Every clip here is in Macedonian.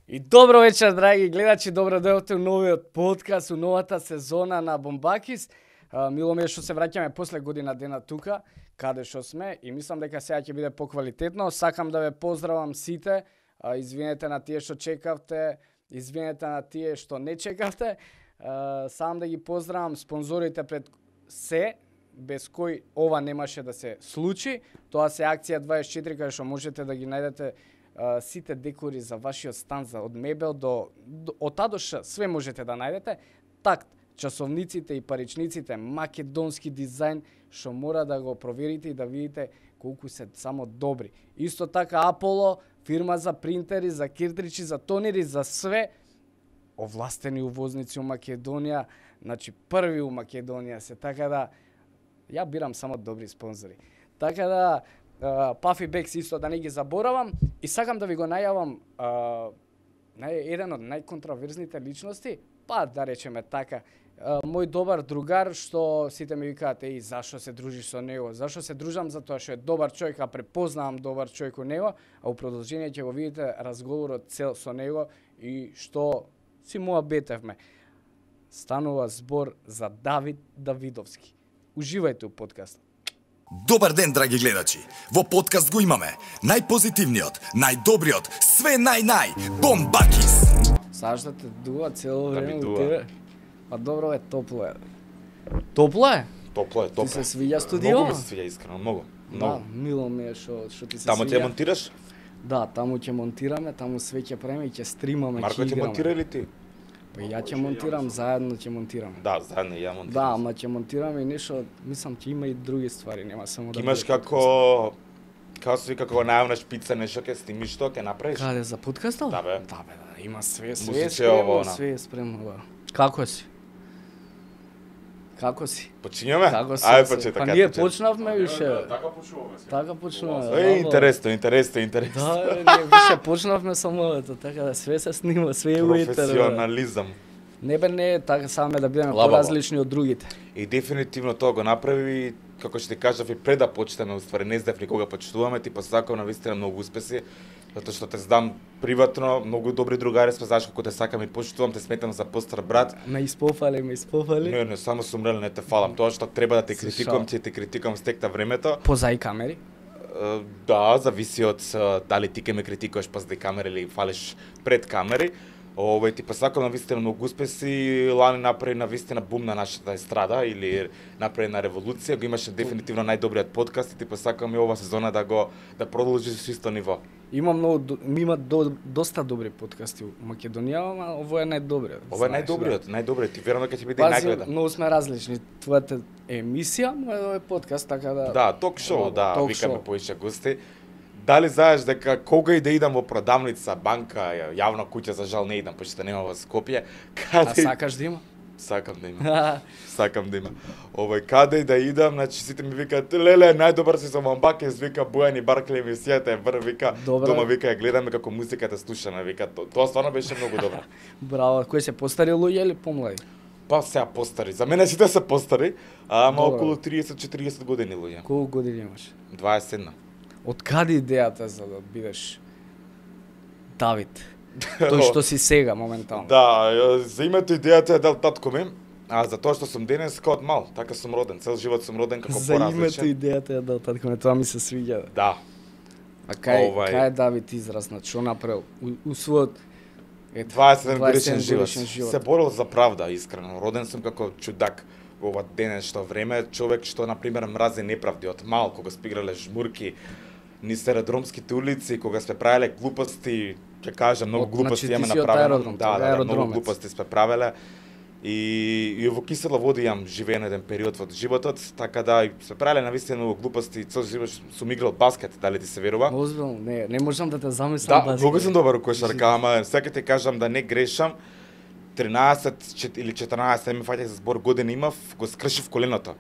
И добро вечер, драги гледачи, добро дојдовте у новиот подкаст, у новата сезона на Бомбакис. Мило ми е што се враќаме после година дена тука, каде што сме, и мислам дека сега ќе биде поквалитетно. Сакам да ве поздравам сите, извинете на тие што чекавте, извинете на тие што не чекавте. Сам да ги поздравам спонзорите пред се, без кои ова немаше да се случи. Тоа се Акција 24, каде што можете да ги најдете сите декори за вашиот стан, од мебел од А до Ш, све можете да најдете. Такт, часовниците и паричниците, македонски дизајн, што мора да го проверите и да видите колку се само добри. Исто така Аполо, фирма за принтери, за киртричи, за тонери, за све, овластени увозници у Македонија, значи први у Македонија се, така да ја бирам само добри спонзори. Така да Puffy Bags исто да не ги заборавам, и сакам да ви го најавам еден од најконтраверзните личности, па да речеме така, мој добар другар, што сите ми викаат, еј, зашо се дружиш со него? Зашо се дружам? Затоа што е добар човек, а препознавам добар човек у него, а у продолжение ќе го видите разговорот цел со него и што си муабетевме. Станува збор за Давид Давидовски. Уживајте у подкаст. Добар ден, драги гледачи! Во подкаст го имаме најпозитивниот, најдобриот, све Бомбакис! Сашта те дува цело време ми у дува. тебе. Па добро е, топло е. Топло е? Топло е, топло. Ти се свиѓа студио? Многу ми се свиѓа, искрено, многу. Да, мило ми е што ти се Таму свиѓа. ќе монтираш? Да, таму ќе монтираме, таму све ќе правиме и ќе стримаме, Марко ќе ќе играме. монтира или ти? Па ја ќе монтирам, заедно ќе монтираме. Да, заедно ја монтирам. Да, ама ќе монтираме и нешто, мислам ќе има и други ствари, нема само да Имаш биде како се вика, како најавна шпица нешто ќе снимиш, што ќе направиш? подкаст. Каде за подкастот? Да, бе. Да, бе, има све е Музиче, спремно, ово, она. све е спремно, да. Како си? Како си? Почињаме? Како си? Ајде почета. Па ние почнавме више. Така почнуваме се. Така почнуваме. Интересно. Да, ние више почнавме со мовето, така да све се снима, све е уитер. Професионализам. Не бе, не, така саме да бидеме Лабава. поразлични од другите. И дефинитивно тоа го направи, како што ти кажав и пред да почнеме, уствари не знаев ни кога почнуваме, ти посакав навистина многу успеси, затоа што те знам приватно, многу добри другари сме, знаеш како те сакам и почитувам, те сметам за постар брат. Ме испофали. Не, само сум рел, не те фалам. Тоа што треба да те Се критикувам, шал. ќе те критикувам стекта времето. Позај камери. Да, зависи од дали ти ќе ме критикуваш позади камери или фалиш пред камери. Ти посакам навистина многу успеси, лани направи навистина бум на нашата естрада или направи на револуција, го имаше дефинитивно најдобриот подкаст и ти посакам и ова сезона да продолжи со исто ниво. Има доста добри подкасти у Македонија, ама ово е најдобриот. Ова е знаеш, најдобриот, ти верувам дека ќе биде и Пази, најгледан. многу сме различни. Твојата емисија, мојот е подкаст, така да... Да, ток-шоу, да, ток викаме шоу. поише гости. Дали знаеш дека кога и да идам во продавница, банка, јавна куќа, за жал не идам, пошто нема во Скопје, А каде сакаш да има? сакам да има. Сакам да има. Каде и да идам, значи сите ми викаат, леле, најдобар си со Бомбакис, вика Бојан и Баркле емисијата е вр, вика, Добра. дома вика ја гледаме како музиката слушаме, вика, тоа стварно беше многу добро. Браво, кои се постари луѓе или помлади? Па сега постари, за мене сите се постари, ама Добро. околу 30-40 години луѓе. Колку години имаш? 21. Од каде идејата за да бидеш Давид? Тој што си сега моментално. Да, за името идејата е дел татко ми, а за тоа што сум денес од мал, така сум роден, цел живот сум роден како За името поразличен. идејата е да татко ме, тоа ми се свиѓа. Да, А кај Овај- е Давид израснат? Што направил у својот 27 годишен 27 живот. годишен живот. Се борил за правда, искрено. Роден сум како чудак во ова денешно време, човек што на пример мрази неправди од мал, кога сме играле жмурки низ аеродромските улици, кога сме правеле глупости, ќе кажам, многу глупости Значи, ти имаме си од направено. аеродром, Да, тоа е многу аеродромец. глупости сме правеле. И во кисела вода имам живеен еден период во животот, така да и сме правеле навистина многу глупости, цел живот сум играл баскет, дали ти се верува? Озбилно, не можам да те замислам. Да, многу сум добар у кошарка, ама сега ти кажам да не грешам. 13 или 14 ми фаќа за збор години имав, го скршив коленото.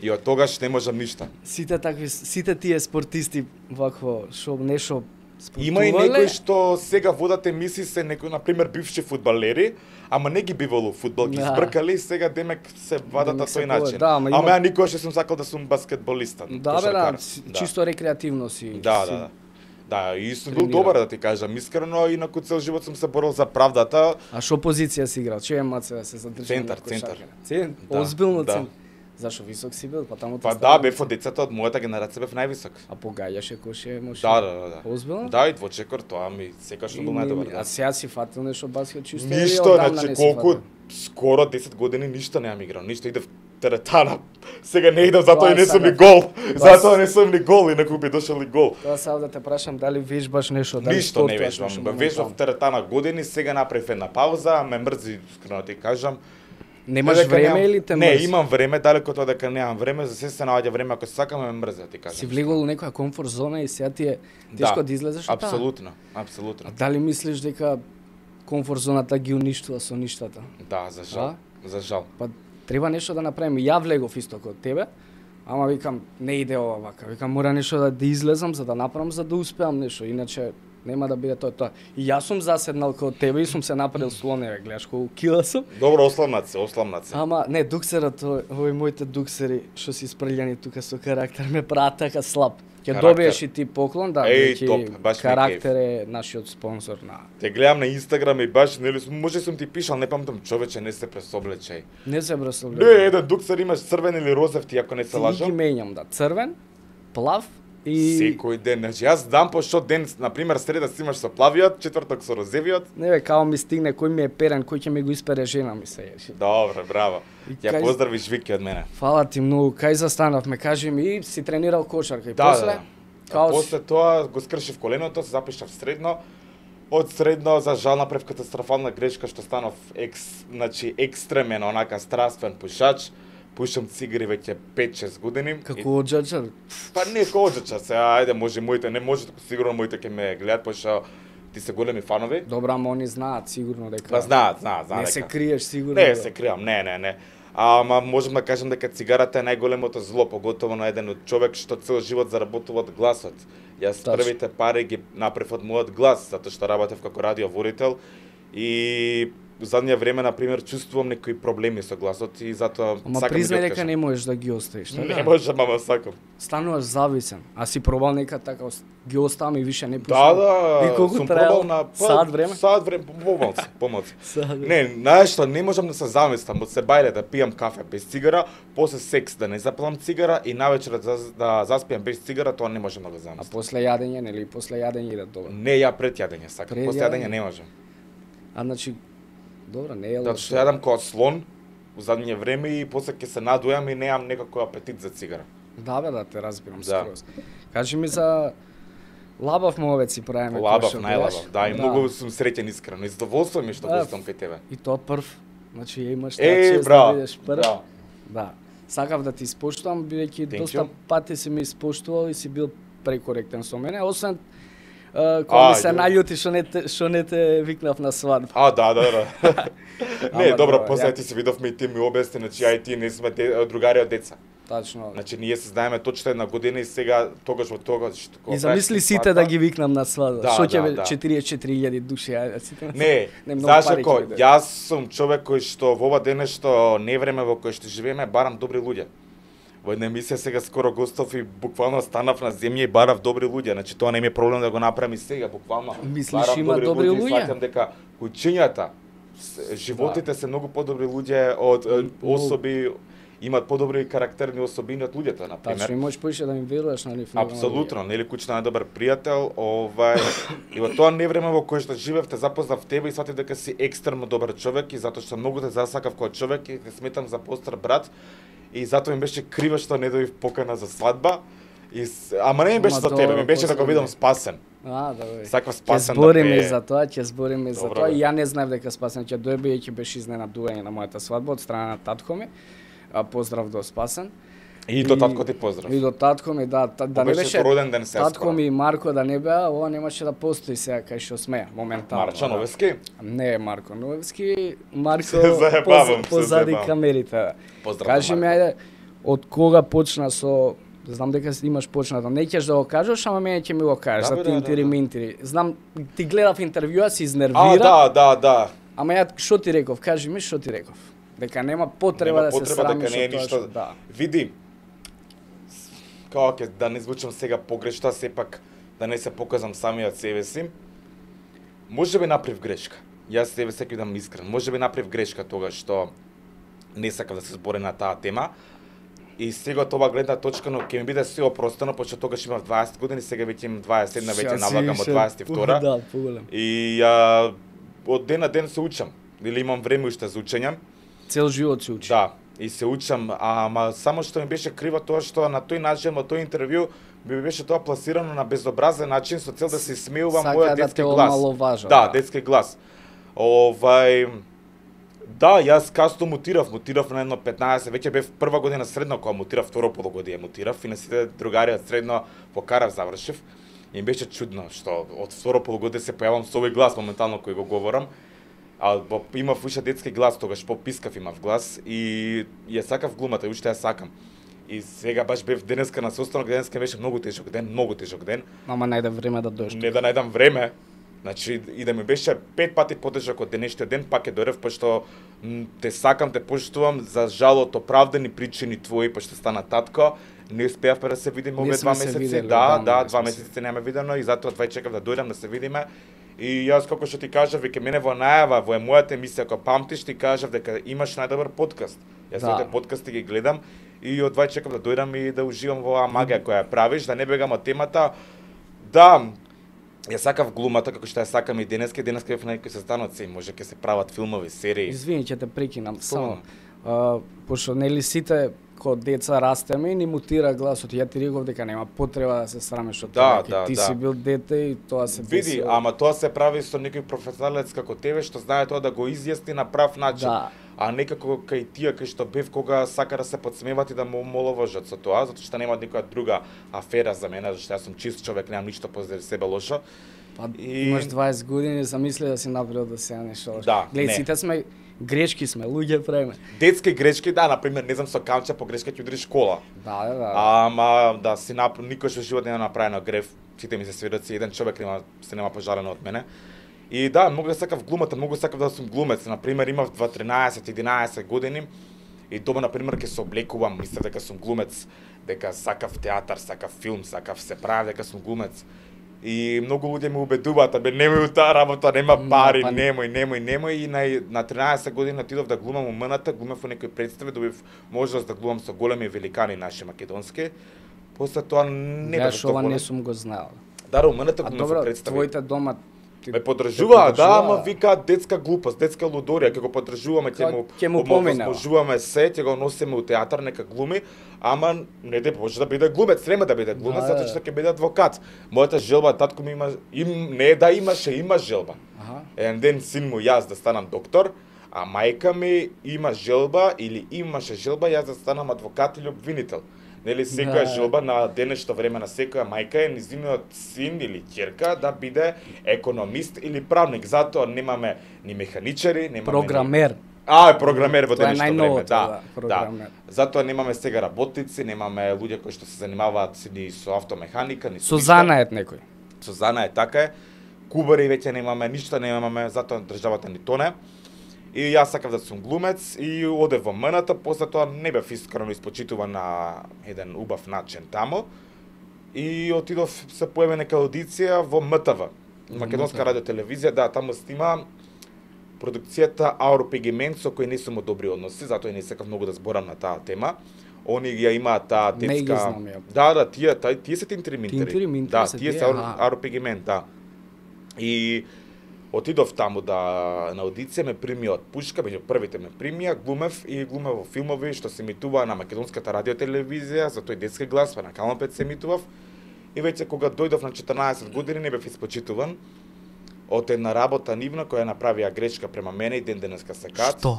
И од тогаш не можам ништа. Сите тие спортисти вакво што нешто спортувале. Има и некои што сега водат емисии се некои на пример бивши фудбалери, ама не ги бивало фудбал, ги Да. збркали и сега демек се вадат на Демек се тој повеќе. начин. Да, ама има- Ама ја никогаш не сум сакал да сум баскетболиста. Да, бе, кошаркар. да, чисто рекреативно си. Да, си да. Да, и сум бил добар, да ти кажам, искрено, инаку цел живот сум се борил за правдата. А што позиција си играл? Че е маце да се задржи? Центар. Да, Озбилно да. центар. Зашо висок си бил? Па таму Па да, бев од децата од мојата генерација бев највисок. А погаѓаше коше може? Да. Озбилно? Да, и двочекор, тоа ми секаш бил најдобар. А сега си фатил нешто баскет чисто? Ништо, значи колку скоро 10 години ништо немам играл, ништо идев теретана. Сега не идам затоа и не сум ни гол. Затоа не сум ни гол, инаку би дошол и гол. Тоа сам да те прашам дали вежбаш нешто, дали Ништо не вежбам. Вежбав теретана години, сега направив една пауза, ме мрзи, искрено ти кажам. Немаш време или те мрзи? Не, имам време, далеко тоа дека немам време, за се наоѓа време ако сакам ме мрзи, ти кажам. Си влегол у некоја комфорт зона и сега ти е тешко да излезеш од таа? Апсолутно. А дали мислиш дека комфорт зоната ги уништува со ништата? Да, за жал. За жал. Па треба нешто да направиме. Ја влегов исто како тебе, ама викам не иде ова вака. Викам мора нешто да излезам за да направам, за да успеам нешто, иначе нема да биде тоа. И јас сум заседнал како тебе и сум се направил слоневе, гледаш колку кила сум. Добро, осламнат се. Ама не, дуксерот, овој моите дуксери што си испрљани тука со карактер ме прават така слаб. Ќе добиеш и ти поклон, да, карактер е нашиот спонзор на. Те гледам на Инстаграм и баш, нели, може сум ти пишал, не памтам, човече, не се пресоблечај. Не се пресоблечај. Не, еден дуксер имаш црвен или розев, ти ако не се лажам. Ти ги менјам, да, црвен, плав и секој ден, значи јас дам по што ден, на пример среда си имаш со плавиот, четврток со розевиот. Не бе, као ми стигне кој ми е перен, кој ќе ми го испере жена ми се еши. Добре, браво. Ја поздравиш Вики од мене. Фала ти многу. Кај застанавме, кажи ми, си тренирал кошарка и да, после? Да. После тоа го скршив коленото, се запишав средно. Од средно за жал направив катастрофална грешка што станав екстремен, онака страствен пушач. Пушам цигари веќе 5-6 години. Како оџачар? Па не како оџачар, се ајде може моите, не може, сигурно моите ќе ме гледат, пошто ти се големи фанови. Добра, ама они знаат сигурно дека. Па знаат Не дека. се криеш сигурно. Не се кријам, не. Ама можам да кажам дека цигарата е најголемото зло, поготово на еден човек што цел живот заработува од гласот. Јас првите пари ги направив од мојот глас, затоа што работев како радиоводител и во заднje време, на пример, чувствувам некои проблеми со гласот и затоа ама сакам признај да дека не можеш да ги оставиш, Не можам, ама сакам. Стануваш зависен. А си пробал нека така ги оставам и више не пушам. Да, и колку сум траел? пробал на Саат време? Саат време, помалку. Не, знаеш што, не можам да се замислам од себајле да пијам кафе без цигара, после секс да не запалам цигара и навечер да заспиам без цигара, тоа не можам да го замислам. А после јадење, нели, после јадење иде добро? Не, ја пред јадење сакам, после јадење не можам. А значи, добро, не е лошо. Затоа што јадам како слон во задње време и после ќе се надојам и немам некако апетит за цигара. Да бе, да те разбирам скроз. Кажи ми за лабав мовец си правиме. Лабав, најлабав, да, и многу сум среќен искрено. И задоволство ми што гостувам кај тебе. И тоа прв, значи ја имаш таа чест да бидеш прв. Да. Сакав да ти испоштувам, бидејќи доста пати си ме испоштувал и си бил прекоректен со мене, освен кога ми се наљути што не те викнав на свадба. Да. Не, добро, после ти се видовме и ти ми објасни, значи ја и ти не сме другари од деца. Тачно. Значи ние се знаеме точно една година и сега тогаш во тогаш и замисли сите да ги викнам на свадба. Што ќе бе 44.000 души, Не, зашто јас сум човек кој што во ова дене што не време во кое што живееме барам добри луѓе. Во една емисија сега скоро гостов и буквално станав на земја и барав добри луѓе. Значи тоа не ми е проблем да го направам и сега, буквално. Мислиш има добри луѓе? Сваќам дека куќињата, животите се многу подобри луѓе од особи, имаат подобри карактерни особини од луѓето, на пример. Тачно, и можеш поише да ми веруваш на нив. Апсолутно, нели куќна е добар пријател, и во тоа невреме во кое што живевте запознав тебе и сватив дека си екстремно добар човек и затоа што многу те засакав како човек и те сметам за постар брат. И затоа ми беше криво што не добив покана за свадба. Ама не ми беше за тебе, ми беше да го видам спасен. Да, Саква спасен да збориме за тоа, ќе збориме за тоа. И ја не знаев дека спасен ќе дојде, ќе беше изненадување на мојата свадба од страна на татко ми. Поздрав до Спасен. И до татко ти поздрав. И до татко ми, да не беше роден ден се татко ми и Марко да не беа, ова немаше да постои сега кај што сме моментално. Марчо Новевски? Не Марко Новевски, Марко позади камерите. Кажи ми ајде, од кога почна со, знам дека имаш почнато, не ќе да го кажеш, ама мене ќе ми го кажеш за тинтири минтири. Знам, ти гледав интервјуа, си изнервира. Да. Ама ја што ти реков? Кажи ми што ти реков? Дека нема потреба да се срамиш од тоа што... Види, како ќе да не звучам сега погрешно, сепак да не се показам самиот себе си. Можеби направив грешка. Јас себе секој дам искрен. Можеби направив грешка тогаш што не сакав да се збори на таа тема. И сега од ова гледна точка, но ќе ми биде се опростено, пошто тогаш имав 20 години, сега веќе имам 21, веќе навлагам од 22. Да, поголем. И од ден на ден се учам. Или имам време уште за учење. Цел живот се учи. Да, и се учам, ама само што ми беше криво тоа што на тој начин, во тој интервју, би беше тоа пласирано на безобразен начин со цел да се смеува мојот детски глас. Да, детски глас. Да, јас касто мутирав на едно 15, веќе бев прва година средно кога мутирав, второ полугодие мутирав и на сите другари од средно покарав завршив. И ми беше чудно што од второ полугодие се појавам со овој глас моментално кој го говорам. Имав уште детски глас, тогаш попискав имав глас и ја сакав глумата, уште ја сакам. И сега баш бев денеска на состанок, денеска беше многу тежок ден. Ама најде време да дојдеш. Не да најдам време. Значи, и да ми беше 5 пати потежок од денешниот ден, пак ќе дојдев, пошто те сакам, те поштувам, за жал од оправдани причини твои, пошто стана татко, не успеавме да се видиме овие 2 месеци. Да, 2 месеци нема видено и затоа чекав да дојдам да се видиме. И јас како што ти кажав, веќе мене во најава, во мојата емисија, ако памтиш, ти кажав дека имаш најдобар подкаст. Јас сите подкасти ги гледам и од чекав да дојдам и да уживам во оваа магија која ја правиш, да не бегам од темата. Да, ја сакав глумата, како што ја сакам и денеска бев на некои состаноци, може ќе се прават филмови, серии. Извини, ќе те прекинам само. Пошто нели сите кога деца растеме и ни мутира гласот. Ја ти реков дека нема потреба да се срамеш од тоа. Ти си бил дете и тоа се деси. Види, ама тоа се прави со некој професионалец како тебе што знае тоа да го изјасни на прав начин. Да. А некако кај тие кај што бев кога сака да се подсмеват и да му омаловажат со тоа, затоа што нема никоја друга афера за мене, зашто јас сум чист човек, немам ништо позади себе лошо. Имаш 20 години, замисли да си направил да се нешто лошо. Да, гледај, сите сме грешки сме, луѓе правиме. Детски грешки, да, например, не знам со камче по грешка ќе удриш школа. Да. Ама да си никош во живот не е направено греф, сите ми се сведоци, еден човек нема пожалено од мене. И да, многу да сакав глумата, многу сакав да сум глумец. Например, имав 13-11 години и дома, например, ке се облекувам, мислев дека сум глумец, дека сакав театар, сакав филм, сакав се прави дека сум глумец. И многу луѓе ме убедуваат, немој таа работа, нема пари, немој. И на 13 години отидов да глумам УМН-та, глумев во некои представи, добив можност да глумам со големи великани наши македонски. После тоа не беше тоа. Не сум го знаел. Да, УМН-та глумев во представи. Твоите дома ме поддржуваа, да, ама викаат детска глупост, детска лудорија, ќе го поддржуваме, ќе му возможуваме се, ќе го носиме у театар, нека глуми, ама не може да биде глумец, нема да биде глумец, затоа што ќе биде адвокат. Мојата желба, татко ми има желба. Еден ден син му јас да станам доктор, а мајка ми има желба или имаше желба јас да станам адвокат или обвинител. Нели секоја желба на денешно време на секоја мајка е низиниот син или ќерка да биде економист или правник. Затоа немаме ни механичари, немаме програмер. Програмер во денешно време, да. Затоа немаме сега работници, немаме луѓе кои што се занимаваат ни со автомеханика, ни со занает некој. Со занает така е. Кубари веќе немаме, ништо немаме, затоа државата ни тоне. И јас сакав да сум глумец и одев во МН-та, после тоа не бев искрено испочитуван на еден убав начин таму. И отидов, се појави нека аудиција во МТВ, Македонска радиотелевизија, да, таму снима продукцијата Ауропегимент со кој не сум од добри односи, затоа и не сакав многу да зборам на таа тема. Они ја имаат таа детска. Да, тие се тинтриминтери. Да, тие се Ауропегимент, да. И отидов таму на аудиција, ме прими од пушка, меѓу првите ме примија, глумев во филмови што се емитуваа на Македонската радиотелевизија, за тој детски глас, на Канал 5 се емитував. И веќе кога дојдов на 14 години не бев испочитуван од една работа нивна која направија грешка према мене и ден денеска се кат. Што?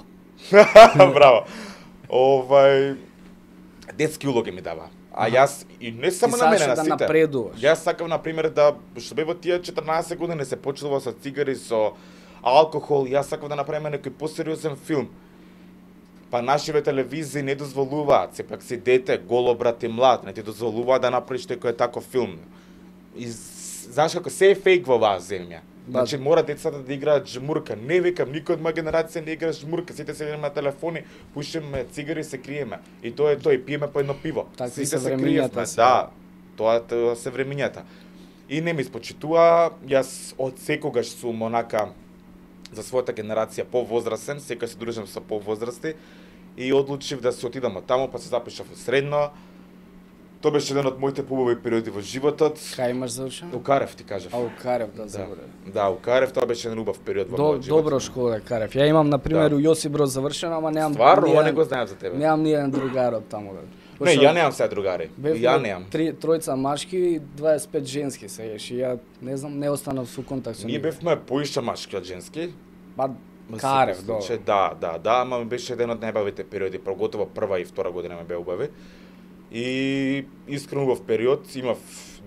Браво. Детски улоги ми дава. А јас и не само на мене, на сите. Напредуваш. Јас сакам на пример да што бев во тие 14 години се почнува со цигари, со алкохол, јас сакам да направиме некој посериозен филм. Па нашиве телевизии не дозволуваат, сепак си дете, голо брат и млад, не ти дозволуваат да направиш некој таков филм. И знаеш како се е фейк во оваа земја. Значи мора децата да играат жмурка. Не викам, никој од моја генерација не игра жмурка. Сите се на телефони, пушиме цигари и се криеме. И тоа е тоа, и пиеме по едно пиво. Сите се криеме. Да, тоа се времињата. И не ми испочитува, јас од секогаш сум онака за својата генерација повозрасен, секој се дружам со повозрасти и одлучив да се отидам од таму, па се запишав во средно. Тоа беше еден од моите побави периоди во животот. Кај имаш завршено? У Карев ти кажав. А у Карев, да, заборев. Да, у Карев тоа беше еден убав период во мојот живот. Добро школа Карев. Ја имам на пример у Јосип Броз завршено, ама немам. Стварно, ова не го знаев за тебе. Немам ниједен другар од таму. Не, ја немам сега другари. Ја немам. Тројца машки и 25 женски сееш. И ја не знам, не останав со контакт со Ние бевме поише машки од женски. Па Карев, да, ама ми беше еден од најбавите периоди, поготово прва и втора година ме беа убави. И искрено убав период, имав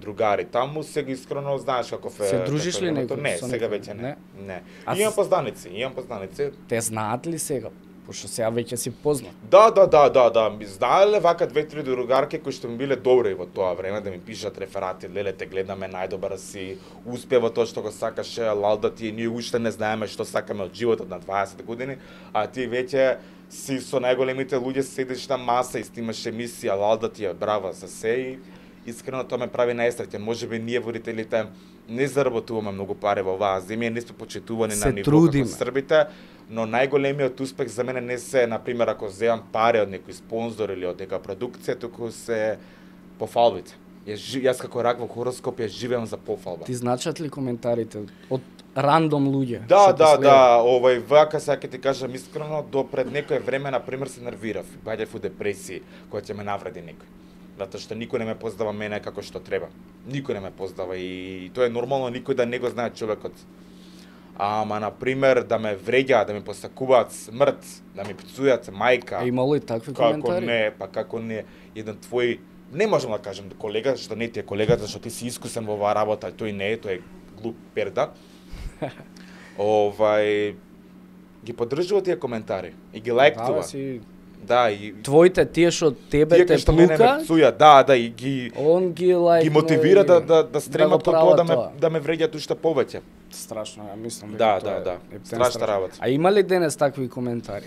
другари таму, сега искрено знаеш каков е. Се дружиш ли некој? Не, сега веќе не. Не. Имам познаници. Те знаат ли сега? Пошто сега веќе си познат. Да. Ми знаеле вака 2-3 другарки кои што ми биле добри во тоа време да ми пишат реферати, леле те гледаме најдобар си, успева тоа што го сакаше, лалда ти, ние уште не знаеме што сакаме од животот на 20 години, а ти веќе си со најголемите луѓе седиш на маса и снимаш емисија, лалда ти е брава за се и искрено тоа ме прави најсреќен. Можеби ние водителите не заработуваме многу пари во оваа земја, не сме почитувани на ниво како србите, но најголемиот успех за мене не се, например, ако земам пари од некој спонзор или од нека продукција, туку се пофалбите. Јас како рак во хороскоп ја живеам за пофалба. Ти значат ли коментарите од рандом луѓе? Да, вака сега ќе ти кажам искрено, до пред некое време, например, се нервирав, баѓав у депресии, која ќе ме навреди некој. Затоа што никој не ме познава мене како што треба. Никој не ме познава и тоа е нормално, никој да не го знае човекот. Ама, например, да ме вреѓаат, да ми посакуваат смрт, да ми пцујат мајка. А имало и такви коментари? Како не, еден твој, не можам да кажам колега, што не ти е колега, зашто ти си искусен во оваа работа, тој не е, тој е глуп перда. Ги поддржува тие коментари и ги лајктува. Да, и твоите тие што тебе те плука, и ги он ги лајкнува, ги мотивира да стремат кон тоа да ме вреѓаат уште повеќе. Страшно, ја мислам дека тоа е страшна работа. А има ли денес такви коментари?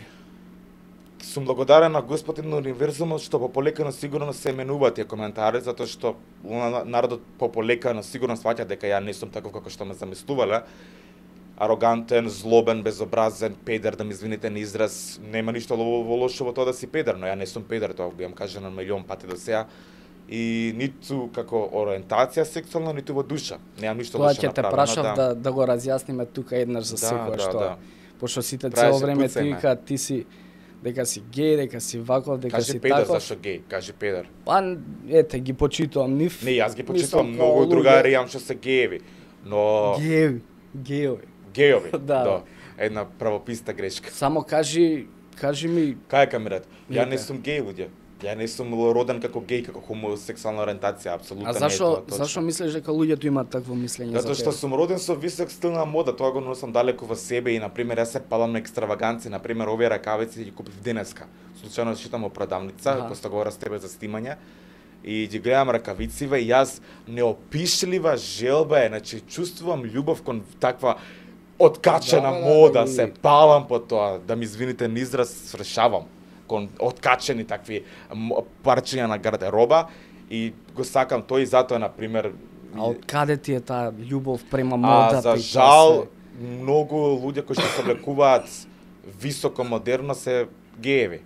Сум благодарен на Господин универзумот што пополекано сигурно се менуваат тие коментари, затоа што народот пополекано сигурно сваќа дека ја не сум таков како што ме замислувале. Арогантен, злобен, безобразен, педер, да ми извините на израз, нема ништо лошо во тоа да си педер, но ја не сум педер, тоа го имам кажано милион пати до сега. И ниту како ориентација сексуална, ниту во душа. Немам ништо лошо направено. Тоа ќе те прашав да го разјасниме тука еднаш за секој што. Пошто сите цело време ти викаат ти си дека си геј, дека си ваков, дека кажи си педер, таков. Зашо геј? Кажи педер. Па ете ги почитувам нив. Не, јас ги почитувам, многу другари имам што се гееви, но Геови, да. Една правописна грешка. Само кажи ми... Кај камерат? Ја не сум геј, луѓе. Ја не сум роден како геј, како хомосексуална ориентација, апсолутно не е тоа точно. Зашо мислиш дека луѓето имаат такво мислење за тебе? Затоа што сум роден со висок стил на мода, тоа го носам далеку во себе и на пример јас се палам на екстраваганци, на пример овие ракавици ги купив денеска. Случајно шитам во продавница, после говорам с тебе за снимање. И ги гледам ракавициве и јас неопишлива желба е, значи чувствувам љубов кон таква откачена мода, се палам по тоа, да ми извините на израз, свршавам кон откачени такви парчиња на гардероба и го сакам тој и затоа на пример. А од каде ти е таа љубов према модата? За жал многу луѓе кои што се облекуваат високо модерно се гееви.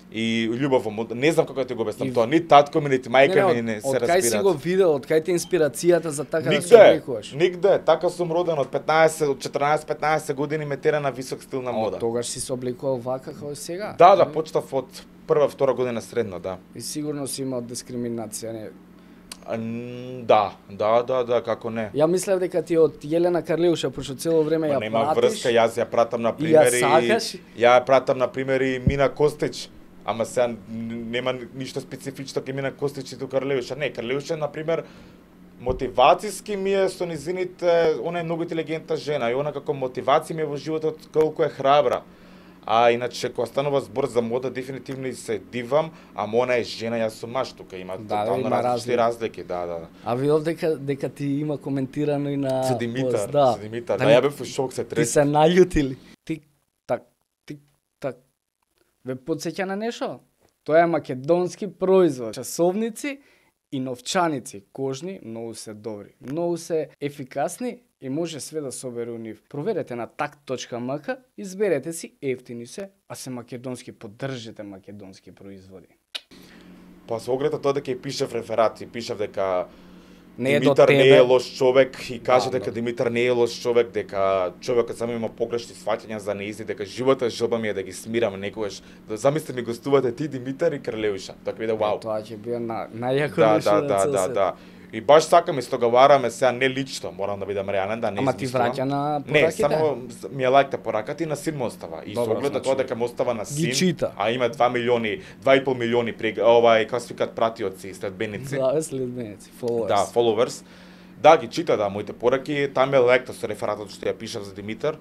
И љубов во мода, не знам како да ти го обяснам тоа, ни татко ми, нити мајка ми не се разбираат. Од кај си го видел, од кај ти инспирацијата за така да се облекуваш? Нигде, така сум роден од 14-15 години ме тера на висок стил на мода. Од тогаш си се облекувал вака како сега? Да, почнав од прва-втора година средно, да. И сигурно си имал дискриминација, не? Да, како не. Ја мислев дека ти од Јелена Карлеуша, пошто цело време ја пратиш. Нема врска, јас ја пратам на примери. Ја пратам на примери Мина Костич. Ама сега нема ништо специфично ке Мина Костич и до Карлеуша. Не, Карлеуша, например, мотивацијски ми е со низините, она е многу интелигентна жена и она како мотивација ми е во животот колку е храбра. А иначе кога станува збор за мода, дефинитивно се дивам, ама она е жена, јас сум маж, тука има тотално разлики, да. А видов дека ти има коментирано и на Со Димитар, да, ја бев во шок, се трес. Ти се наљутили. Тик так. Ве потсеќа на нешто? Тоа е македонски производ. Часовници и новчаници кожни многу се добри, многу се ефикасни и може све да собере у нив. Проверете на takt.mk, изберете си, ефтини се, а се македонски, поддржите македонски производи. Па со оглед на тоа дека и пишав реферати, пишав дека Не е до Димитар тебе. не е лош човек и каже Да, дека да. Димитар не е лош човек, дека човекот само има погрешни сваќања за неизи, дека живота желба ми е да ги смирам некогаш. Да замисли ми гостувате ти Димитар и Кралеуша. Така биде вау. Тоа ќе биде најако Да, нешто да, на да, цел да, свет. да. И баш сакам исто вараме сега не лично, морам да бидам реален, да не Ама ти измислувам. враќа на Не, пораките? само ми е лајкта пораката и на син му остава. И со Добро, оглед на значи, тоа дека му остава на син, чита. а има 2 милиони, 2,5 милиони како се викаат пратиоци, следбеници. Да, следбеници, followers. Да, followers. Да, ги чита, да, моите пораки, там е лекта со рефератот што ја пишав за Димитар.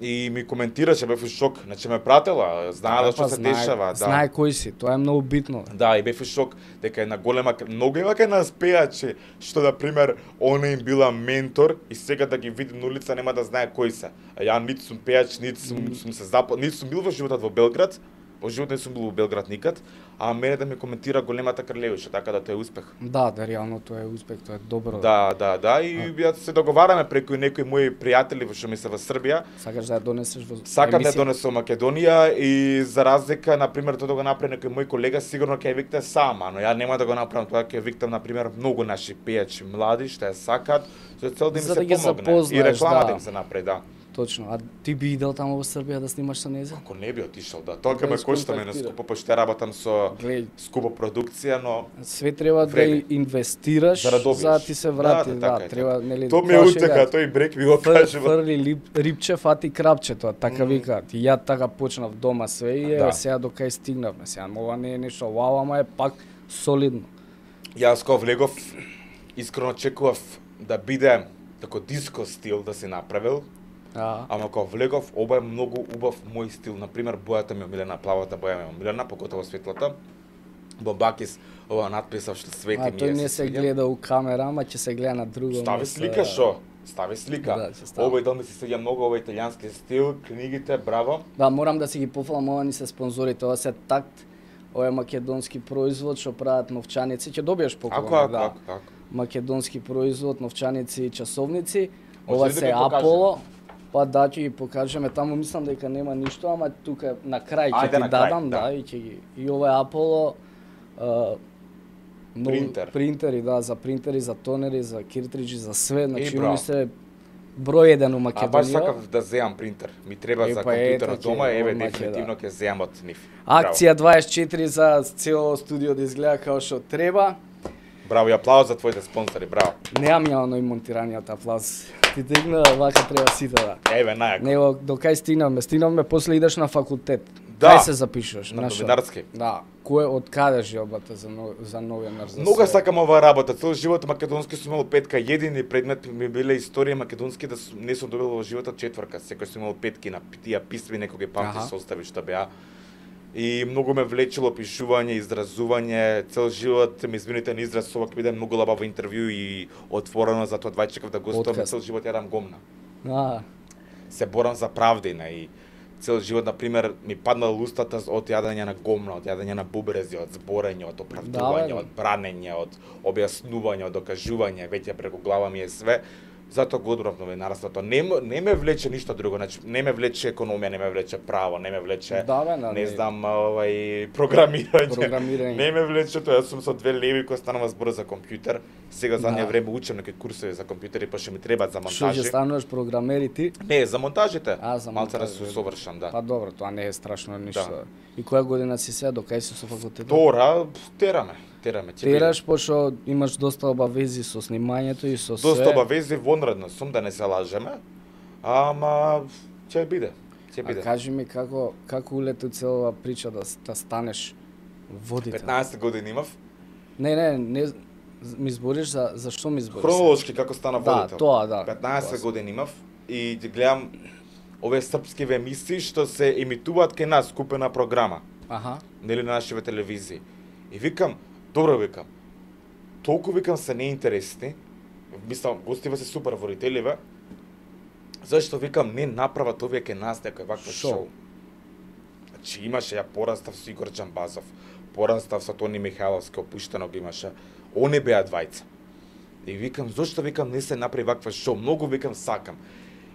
И ми коментираше, бев у шок, значи ме пратела, знаела што се дешава, да. Знае кој си, тоа е многу битно. Да, и бев у шок дека една голема, многу има кај нас пејачи, што на пример она им била ментор и сега да ги види на улица нема да знае кои се. А ја нит сум пејач, нит сум бил во животот во Белград. Во живот не сум бил во Белград никад, а мене да ми коментира големата Кралеуша, така да тоа е успех. Да, реално тоа е успех, тоа е добро. Да, и ја се договараме преку некои мои пријатели што ми се во Србија. Сакаш да ја донесеш во Сакам да емисија? донесам Македонија и за разлика, на пример, тоа да го направи некој мој колега, сигурно ќе ја викте сама, но ја нема да го направам тоа, ќе ја виктам на пример многу наши пејачи млади што ја сакаат, за цел да им За се да ги помогне запознаеш, и реклама да. да им се направи, да. Точно. А ти би идел таму во Србија да снимаш со нејза? Ако не би отишол, да. Тоа ќе ме Без кошта мене контактира. скупо, пошто ја работам со Глеј, скупа продукција, но све треба да Време. инвестираш За да добиеш. за да ти се врати, Да, да, така е, треба така. нели. тоа ми е тоа утеха, шега, тој брек ми го кажува. Фрли рипче, фати крапче, тоа така викаат. И ја така почнав дома све и Да. сега до кај стигнавме. Сега ова не е нешто вау, ама е пак солидно. Јас кога влегов, искрено очекував да биде тако диско стил да се направил, ама кога влегов, ова е многу убав мој стил. Например, бојата ми е омилена, плавата боја ми е омилена, покотово светлата. Бомбакис, ова надписав што свети ми е. тој не се свиѓа. гледа у камера, ама ќе се гледа на друго Стави место. слика шо? Стави слика. Да, ќе стави. Овој дом ми се свиѓа многу, овој италијански стил, книгите, браво. Да, морам да си ги пофалам, ова ни се спонзорите, ова се такт, ова е македонски производ што прават новчаници, ќе добиеш поклон. Ако. Македонски производ, новчаници и часовници. Може Ова ли да се ги покажеме? Аполо. Па да, ќе ги покажеме, таму мислам дека нема ништо, ама тука на крај ќе Ајде ти на крај, дадам, да. да, и ќе ги. И ова е Аполо Принтер. Принтери, да, за принтери, за тонери, за киртриџи, за све, значи браво. они се број еден у А баш Македонија. сакав да земам принтер. Ми треба за па компјутерот ете, дома, еве одма ќе, дефинитивно ќе земам од нив. Акција 24 за цело студио да изгледа како што треба. Браво, и аплауз за твоите спонзори, браво. Неам ја оној монтираниот аплауз. Ти тегна, вака треба сите да. Еве најако. Него до кај стигнавме? Стигнавме, после идеш на факултет. Да. Кај се запишуваш? На што? новинарски. Да. Кој од каде желбата за новинар за Многу све? сакам оваа работа. Цел живот македонски сум имал петка, едини предмет ми биле историја македонски да не сум добил во животот четврка. Секој сум имал петки на тие писми, некој ги памти Аха. состави што беа. И многу ме влечело пишување, изразување, цел живот ми извините на израз, ова ќе биде многу лабаво интервју и отворено, затоа двај чекав да гостувам, Отказ. цел живот јадам гомна. Се Борам за правдина и цел живот, на пример, ми паднал устата од јадење на гомна, од јадење на бубрези, од зборење, од оправдување, Да, бе. од бранење, од објаснување, од докажување, веќе преку глава ми е све. Затоа го одбрав новинарството. Не ме влече ништо друго, значи не ме влече економија, не ме влече право, не ме влече Да, бе, не знам, програмирање. Програмирање. Не ме влече тоа, јас сум со 2 леви кои станува збор за компјутер. Сега задње Да. време учам некои курсови за компјутери, па што ми требаат за Што ќе монтажи. стануваш програмер и ти? Не, за монтажите. За Малце да монтажи. се совршам, да. Па добро, тоа не е страшно ништо. Да. И која година си сега, до кај си со факултетот? Тора, тераме, ќе биде. Тераш, пошто имаш доста обавези со снимањето и со све. Доста обавези вонредно сум, да не се лажеме. Ама ќе биде. Ќе А биде. кажи ми како улети целава прича да станеш водител? 15 години имав. Не, ми збориш за што ми збориш? Хронолошки како стана Да, водител. тоа, да. 15 Тоа години имав и ги гледам овие српски емисии што се емитуваат кај нас, купена програма, Аха. нели на нашите телевизии. И викам, добро викам, толку викам се неинтересни, мислам, гостиве се супер водителиве, зашто викам не направат овие кај нас некој вакво Шоу. шоу. Значи имаше, ја порастав со Игор Џамбазов, порастав со Тони Михайловски, опуштено го имаше, Они беа двајца. И викам, зошто викам не се направи ваква шоу, многу викам сакам.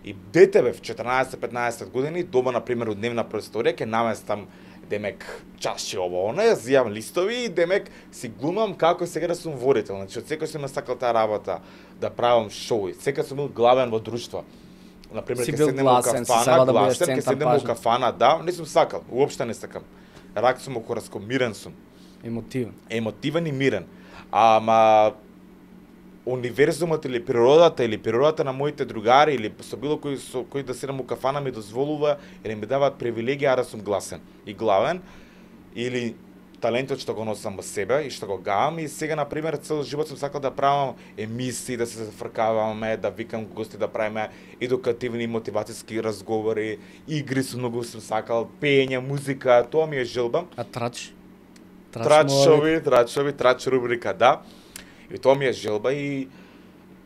И дете бев 14-15 години, дома на пример од дневна просторија ќе наместам демек чаши ово она, јас зијам листови и демек си глумам како сега да сум водител. Значи од секој сум сакал таа работа да правам шоу. Секој сум бил главен во друштво. На пример ќе седнеме во кафана, гласен, ќе седнеме во кафана, да, не сум сакал, уопште не сакам. Рак сум окораско, мирен сум. Емотивен. Емотивен и мирен. Ама универзумот или природата на моите другари или со било кој да седам у кафана ми дозволува или ми даваат привилегија да сум гласен и главен или талентот што го носам во себе и што го гаам и сега на пример цел живот сум сакал да правам емисии, да се зафркаваме, да викам гости, да правиме едукативни мотивацијски разговори, игри многу сум сакал, пеење, музика, тоа ми е желба. А трач? Трач рубрика, да. И тоа ми е желба и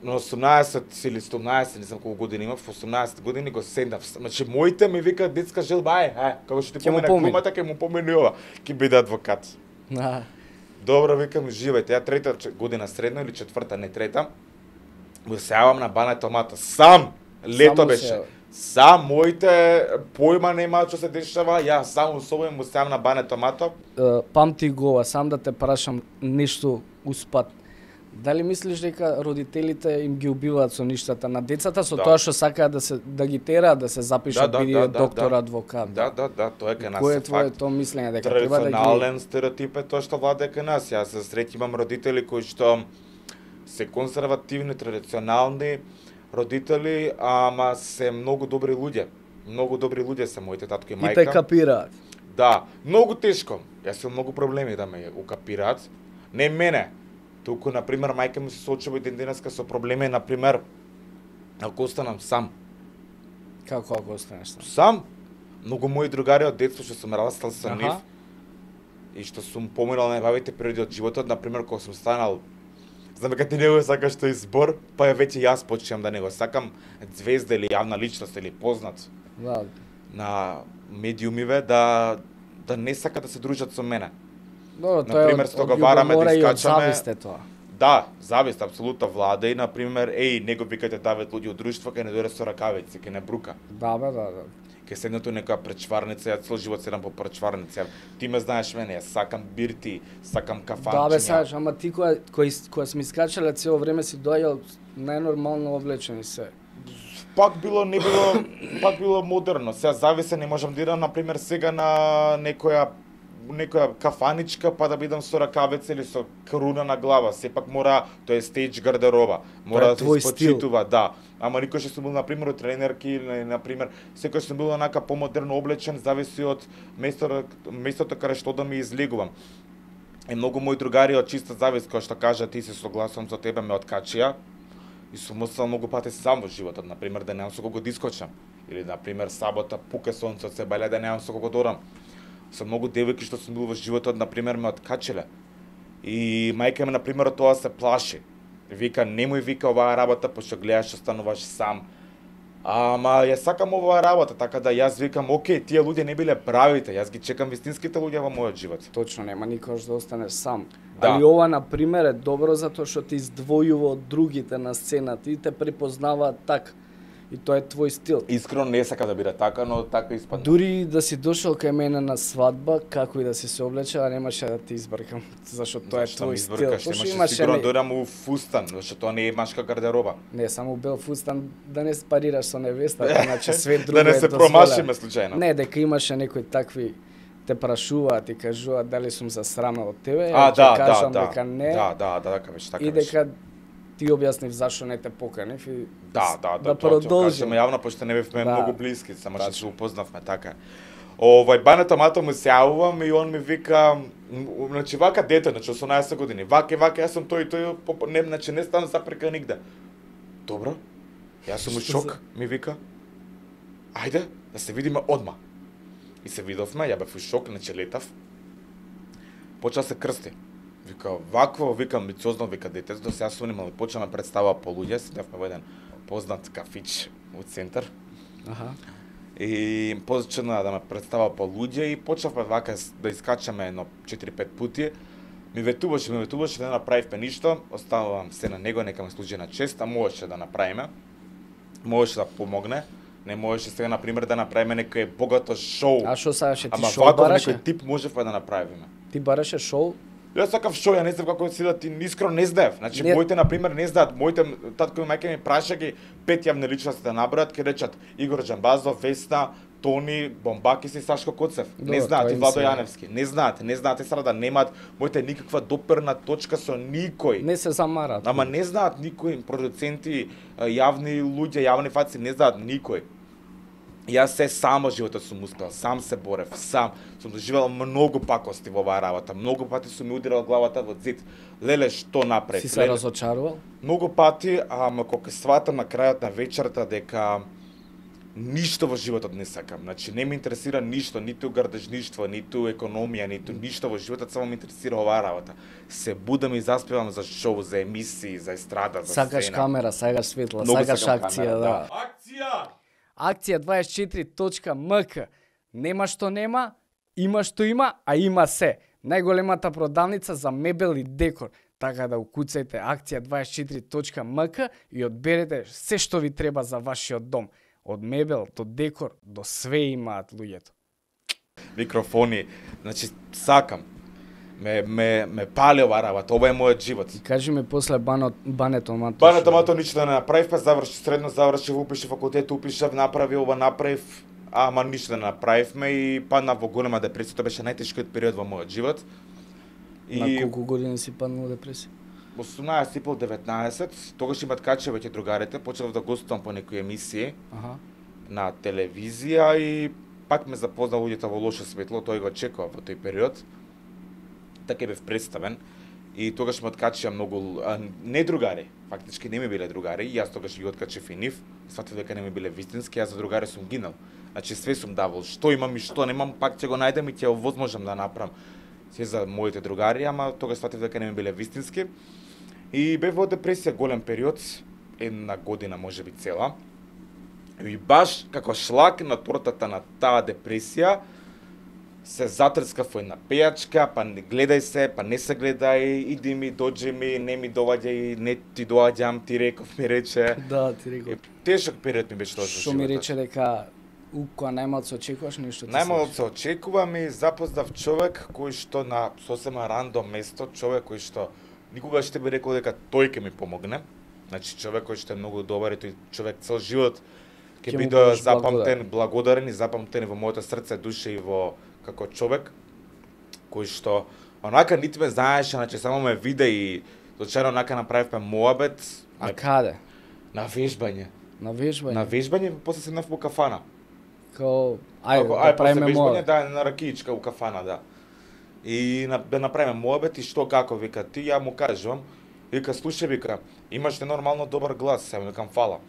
на 18 или 17, не знам колку години имав, 18 години го седнав. Значи моите ми вика детска желба, како што ти помена глумата, ќе му помени ова, ќе биде адвокат. Добро, викам, живејте. Ја трета година средно или четврта, не трета. Му се јавам на Бане Томато. Сам! Лето беше. Сам, моите појма нема што се дешава, ја сам особено му се јавам на Бане Томато. Памти го, сам да те прашам нешто успат. Дали мислиш дека родителите им ги убиваат со ништата на децата, со тоа што сакаат да ги тераат да се запишат биде доктор, адвокат? Да, тоа е кај нас. Кој е твоето мислење дека треба да ги... Традиционален стереотип е тоа што владее кај нас. Јас се среќавам имам родители кои што се конзервативни, традиционални родители, ама се многу добри луѓе. Многу добри луѓе се моите татко и мајка. И те капираат. Да, многу тешко. Јас имам многу проблеми да ме укапираат. Не мене. Туку, например, мајка ми се соочува и денеска со проблеми, например, ако останам сам. Како ако останеш сам? Сам. Многу мои другари од детство што сум растал со нив и што сум поминал најбавите периоди од животот, например, кога сум станал, знам дека ти не го сакаш тој збор, па веќе јас почнам да не го сакам, звезда или јавна личност или познат на медиумиве да не сака да се дружат со мене. Добро, например, што го бараме да искачаме. Завист е тоа. Да, завист апсолутно влада и например, не го викате Давид луѓе од друштво, кај не дојде со ракавици, кај не брука. Да. Кај седнато некоја пречварница, ја цел живот седам по пречварница. Ти ме знаеш мене, јас сакам бирти, сакам кафанчиња. Да, сакаш, ама ти која сме искачале цело време си доаѓал најнормално облечени се. Пак било модерно. Сега зависе, не можам да идам например сега на некоја кафаничка па да бидам со ракавица или со круна на глава. Сепак мора, тоа е стејдж гардероба. Мора да се испочитува, да. Ама никој што сум бил например од тренерки или например секој сум бил онака помодерно облечен, зависи од местото каде што да ми излегувам. И многу мои другари од чиста завист, кој што кажа ти се согласувам со тебе, ме откачија. И сум остал многу пати сам во животот, например да немам со кого да искочам. Или например сабота пука сонцот се бале да немам со кого да одам. Со многу девојки што сум бил во животот, например, ме откачиле. И мајка ми, например, од тоа се плаши. Вика, немој вика оваа работа, пошто гледаш што стануваш сам. Ама ја сакам оваа работа, така да јас викам, окей, тие луѓе не биле правите, јас ги чекам вистинските луѓе во мојот живот. Точно, нема никош да останеш сам. Да. Али ова, например, е добро затоа што ти издвојува од другите на сцената и те препознаваат така. И тоа е твој стил. Искрено не сака да биде така, но така испадна. Дури да си дошол кај мене на свадба, како и да си се облече, немаше да ти избркам, зашто тоа е твој стил. Имаше сигурно дојдам у фустан, зашто тоа не е машка гардероба. Не, само бел фустан да не спарираш со невестата, иначе све друго да не се промашиме случајно. Не, дека имаше некои такви те прашуваат и кажуваат дали сум засрамел од тебе, кажам дека не. Да, дека беше така. И дека ти објаснив зашо не те поканив и да продолжиме. Јавно пошто не бевме многу блиски, само што се упознавме така. Бане Томато му се јавувам и он ми вика, значи вака дете, значи 18 години, вака, јас сум тој, не, значи не ставам запрека нигде. Добро, јас сум у шок, ми вика, ајде, да се видиме одма. И се видовме, ја бев у шок, значи летав, почна се крсти. Вика, вакво, вика, амбициозно, вика детето, до сега сум имал и почна ме представа по луѓе, седевме во еден познат кафич во центар. И почна да ме представа по луѓе и почнавме вака да искачаме едно 4-5 пати. Ми ветуваше да направивме ништо, оставувам се на него, нека ме служи на чест, а можеше да направиме. Можеше да помогне. Не можеше сега, например, да направиме некое богато шоу. А што сакаше ти Ама шоу ваков бараше? некој тип можевме да направиме. Ти бараше шоу? Јас сакав шоу, ја не знам како си да ти искрено не знаев. Значи Не. моите например не знаат, моите татко и мајка ми праша ги 5 јавни личности да набројат, ке речат Игор Џамбазов, Весна, Тони, Бомбакис и Сашко Коцев. Не Добро, знаат тоа и им Владо се- Јаневски. Не знаат и сега да немаат моите никаква доперна точка со никој. Не се замараат. Ама не знаат никој, продуценти, јавни луѓе, јавни фаци, не знаат никој. Јас се само животот сум успел, сам се борев, сам. Сум доживел многу пакости во оваа работа. Многу пати сум ми ударал главата во зид. Леле, што направив? Си се разочарувал? Многу пати, ама кога сватам на крајот на вечерта дека ништо во животот не сакам. Значи не ме интересира ништо, ниту грдежништво, ниту економија, ниту ништо во животот, само ме интересира оваа работа. Се будам и заспевам за шоу, за емисии, за естрада, за Сакаш сцена. камера, сакаш светла, Многу сакаш сакам акција, камера, да. Акција! Акција 24.mk. Нема што нема, има што има, а има се. Најголемата продавница за мебел и декор. Така да укуцајте акција 24.mk и одберете се што ви треба за вашиот дом. Од мебел до декор до све имаат луѓето. Микрофони, значи сакам. Ме пали оваа работа, ова е мојот живот. Кажи ми после бането мато. Бането мато ништо да не направив, па заврши средно, завршив, упишев факултет, упишев, направи ова, направив, ама ништо да не направивме и падна во голема депресија, тоа беше најтешкиот период во мојот живот. На И колку години си паднал депресија? 18 и пол 19, тогаш имат каче веќе другарите, почнав да гостувам по некои емисии Аха. на телевизија и пак ме запозна луѓето во лошо светло, тој го очекува во тој период. Така бев представен и тогаш ме откачија многу не другари, фактички не ми биле другари, и јас тогаш ги откачев и нив, сватив дека не ми биле вистински, јас за другари сум гинал. Значи све сум давал, што имам и што немам, пак ќе го најдем и ќе овозможам да направам се за моите другари, ама тогаш сватив дека не ми биле вистински. И бев во депресија голем период, една година можеби цела. И баш како шлак на тортата на таа депресија, се затрскав во една пејачка, па не гледај се, па не се гледај, иди ми, доđи ми, не ми доваѓај, не ти доаѓам, ти реков ми рече. Да, ти реков. Тешок период ми беше тоа за Што ми животот. рече дека кога најмалку се очекуваш нешто ти Најмало се се очекувам и запознав човек кој што на сосема рандом место, човек кој што никогаш не би рекол дека тој ќе ми помогне. Значи човек кој што е многу добар и тој човек цел живот ќе Ќе му биде будеш запамтен, благодарен и запамтен и во моето срце, душа и во како човек кој што онака нити ме знаеше, значи само ме виде и случајно онака направивме моабет. А каде? На вежбање. На вежбање? На вежбање, после седнав во кафана. Као, ајде, Ако, да правиме после моја. вежбање, да, на ракиичка у кафана, да. И да направиме моабет и што како, вика, ти ја му кажувам, вика, слушај, вика, имаш ненормално добар глас, се викам, фала.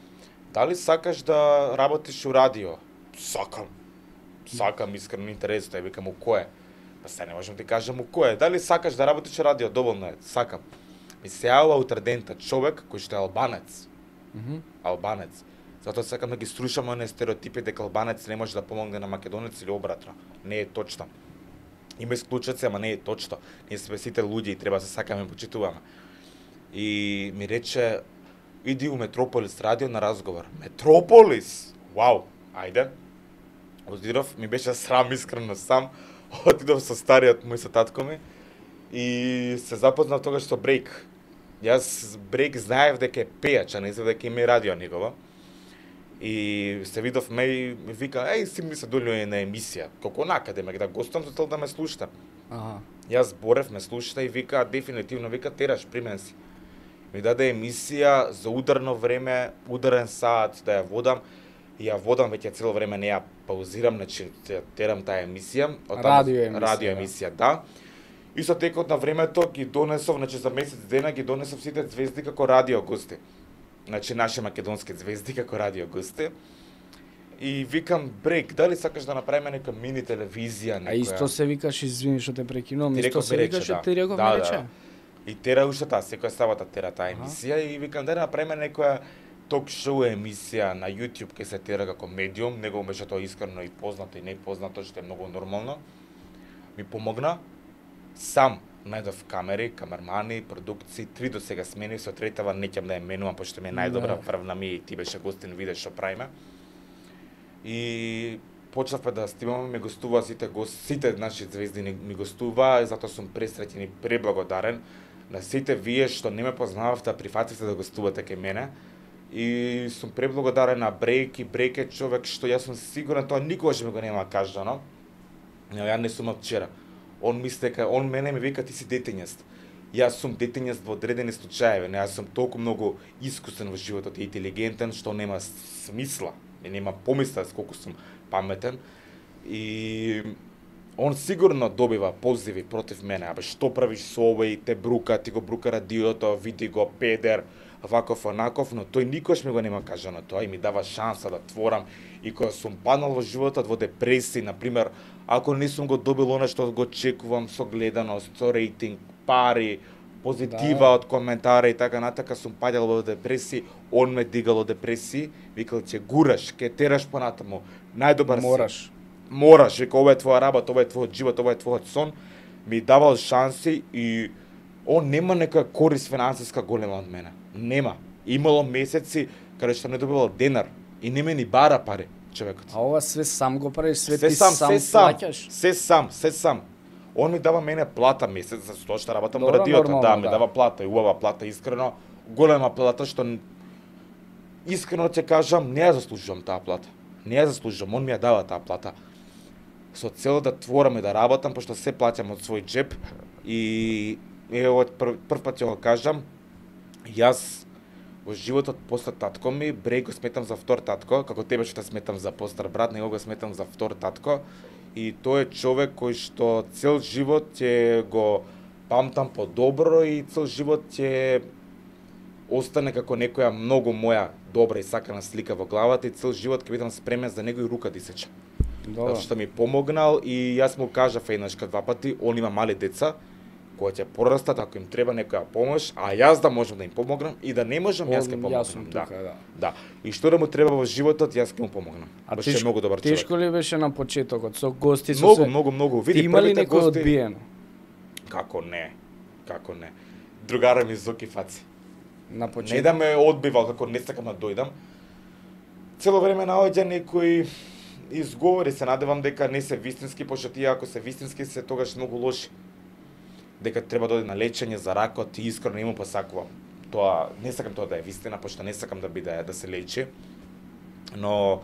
Дали сакаш да работиш у радио? Сакам. Сакам, искрено интересно, ја викам, у кое? Па се не можам ти кажам у кое. Дали сакаш да работиш у радио? Доволно е, сакам. Ми се јавува утредента човек кој што е албанец. Албанец. Затоа сакам да ги струшам оние стереотипи дека албанец не може да помогне на македонец или обратно. Не е точно. Има исклучоци, ама не е точно. Ние сме сите луѓе и треба да се сакаме и почитуваме. И ми рече, иди у Метрополис радио на разговор. Метрополис? Вау, ајде. Одидов, ми беше срам искрено сам. Отидов со стариот мој, со татко ми и се запознав тогаш со Брейк. Јас Брейк знаев дека е пејач, а не знаев дека има и радио негово. И се видов ме и ми вика, еј, си ми се долјува на емисија. Колку накаде ме да гостам, за цел да ме слушате. Аха. Јас борев, ме слушате и вика, дефинитивно вика, тераш, примен си. Ми даде емисија за ударно време, ударен саат да ја водам. И ја водам веќе цело време, не ја паузирам, значи ја терам таа емисија. Радио емисија, да. И со текот на времето ги донесов, значи за месец дена ги донесов сите звезди како радио гости. Значи наши македонски звезди како радио гости. И викам, Брейк, дали сакаш да направиме нека мини телевизија, некоја? А исто се викаш, извини што те прекинувам, Ти исто реков се ми рече, викаше, да. ти реков Да, ми да, рече. да. И тера уште таа, секоја сабота тера таа емисија и викам да направиме некоја ток-шоу емисија на YouTube ке се тера како медиум, него беше тоа искрено и познато и непознато, што е многу нормално. Ми помогна сам најдов камери, камермани, продукции, 3 до сега смени, со третава неќам да ја менувам, пошто ми е најдобра, врвна ми и ти беше гостин, видеш што правиме. И почнавме да снимаме, ми гостуваа сите наши звезди ми гостуваа, и затоа сум пресреќен и преблагодарен на сите вие што не ме познававте, да прифативте да гостувате кај мене. И сум преблагодарен на Брейк е човек што јас сум сигурен тоа никогаш ми го нема кажано. Ја не сум вчера. Он мисли дека он мене ми вика ти си детењест. Јас сум детењест во одредени случаеви, не, јас сум толку многу искусен во животот и интелигентен што нема смисла, нема помисла колку сум паметен. И он сигурно добива позиви против мене, абе што правиш со овој, те брука, ти го брука радиото, види го педер, ваков онаков, но тој никош ми го нема кажано тоа и ми дава шанса да творам. И кога сум паднал во животот во депресија, например, ако не сум го добил она што го чекувам со гледаност, со рейтинг, пари, позитива од коментари и така натака, сум паѓал во депресија, он ме дигал од депресија, викал ќе гураш, ќе тераш понатаму, најдобар си. Мораш, вика, ова е твоја работа, ова е твојот живот, ова е твојот сон, ми давал шанси и он нема нека корист финансиска голема од мене. Нема. Имало месеци каде што не добивал денар и не ме ни бара пари човекот. А ова све сам го правиш, све ти сам плаќаш? Се сам. Он ми дава мене плата месец за тоа што работам во радиото, да, ми дава плата и убава плата, искрено, голема плата што искрено ќе кажам, не ја заслужувам таа плата. Не ја заслужувам, он ми ја дава таа плата. Со цел да творам и да работам, пошто се плаќам од свој џеп и ево прв пат ќе го кажам, јас во животот после татко ми, Брейк го сметам за втор татко, како тебе што те сметам за постар брат, него го сметам за втор татко. И тој е човек кој што цел живот ќе го памтам подобро и цел живот ќе остане како некоја многу моја добра и сакана слика во главата и цел живот ќе бидам спремен за него и рука да исече. Затоа што ми помогнал и јас му кажав еднашка два пати, он има мали деца кои ќе порастат ако им треба некоја помош, а јас да можам да им помогнам и да не можам јас ќе помогнам. Да. И што да му треба во животот, јас ќе му помогнам. Беше многу добар човек. Тешко ли беше на почетокот со гости со многу. Види имали некој одбиено? Како не. Другара ми Зоки Фаци. На почеток. Не да ме одбивал како не сакам да дојдам. Цело време наоѓа некои изговори, се надевам дека не се вистински, пошто тие ако се вистински се тогаш многу лоши. Дека треба да оди на лечење за ракот и искрено не му посакувам. Тоа не сакам тоа да е вистина, пошто не сакам да биде да се лечи. Но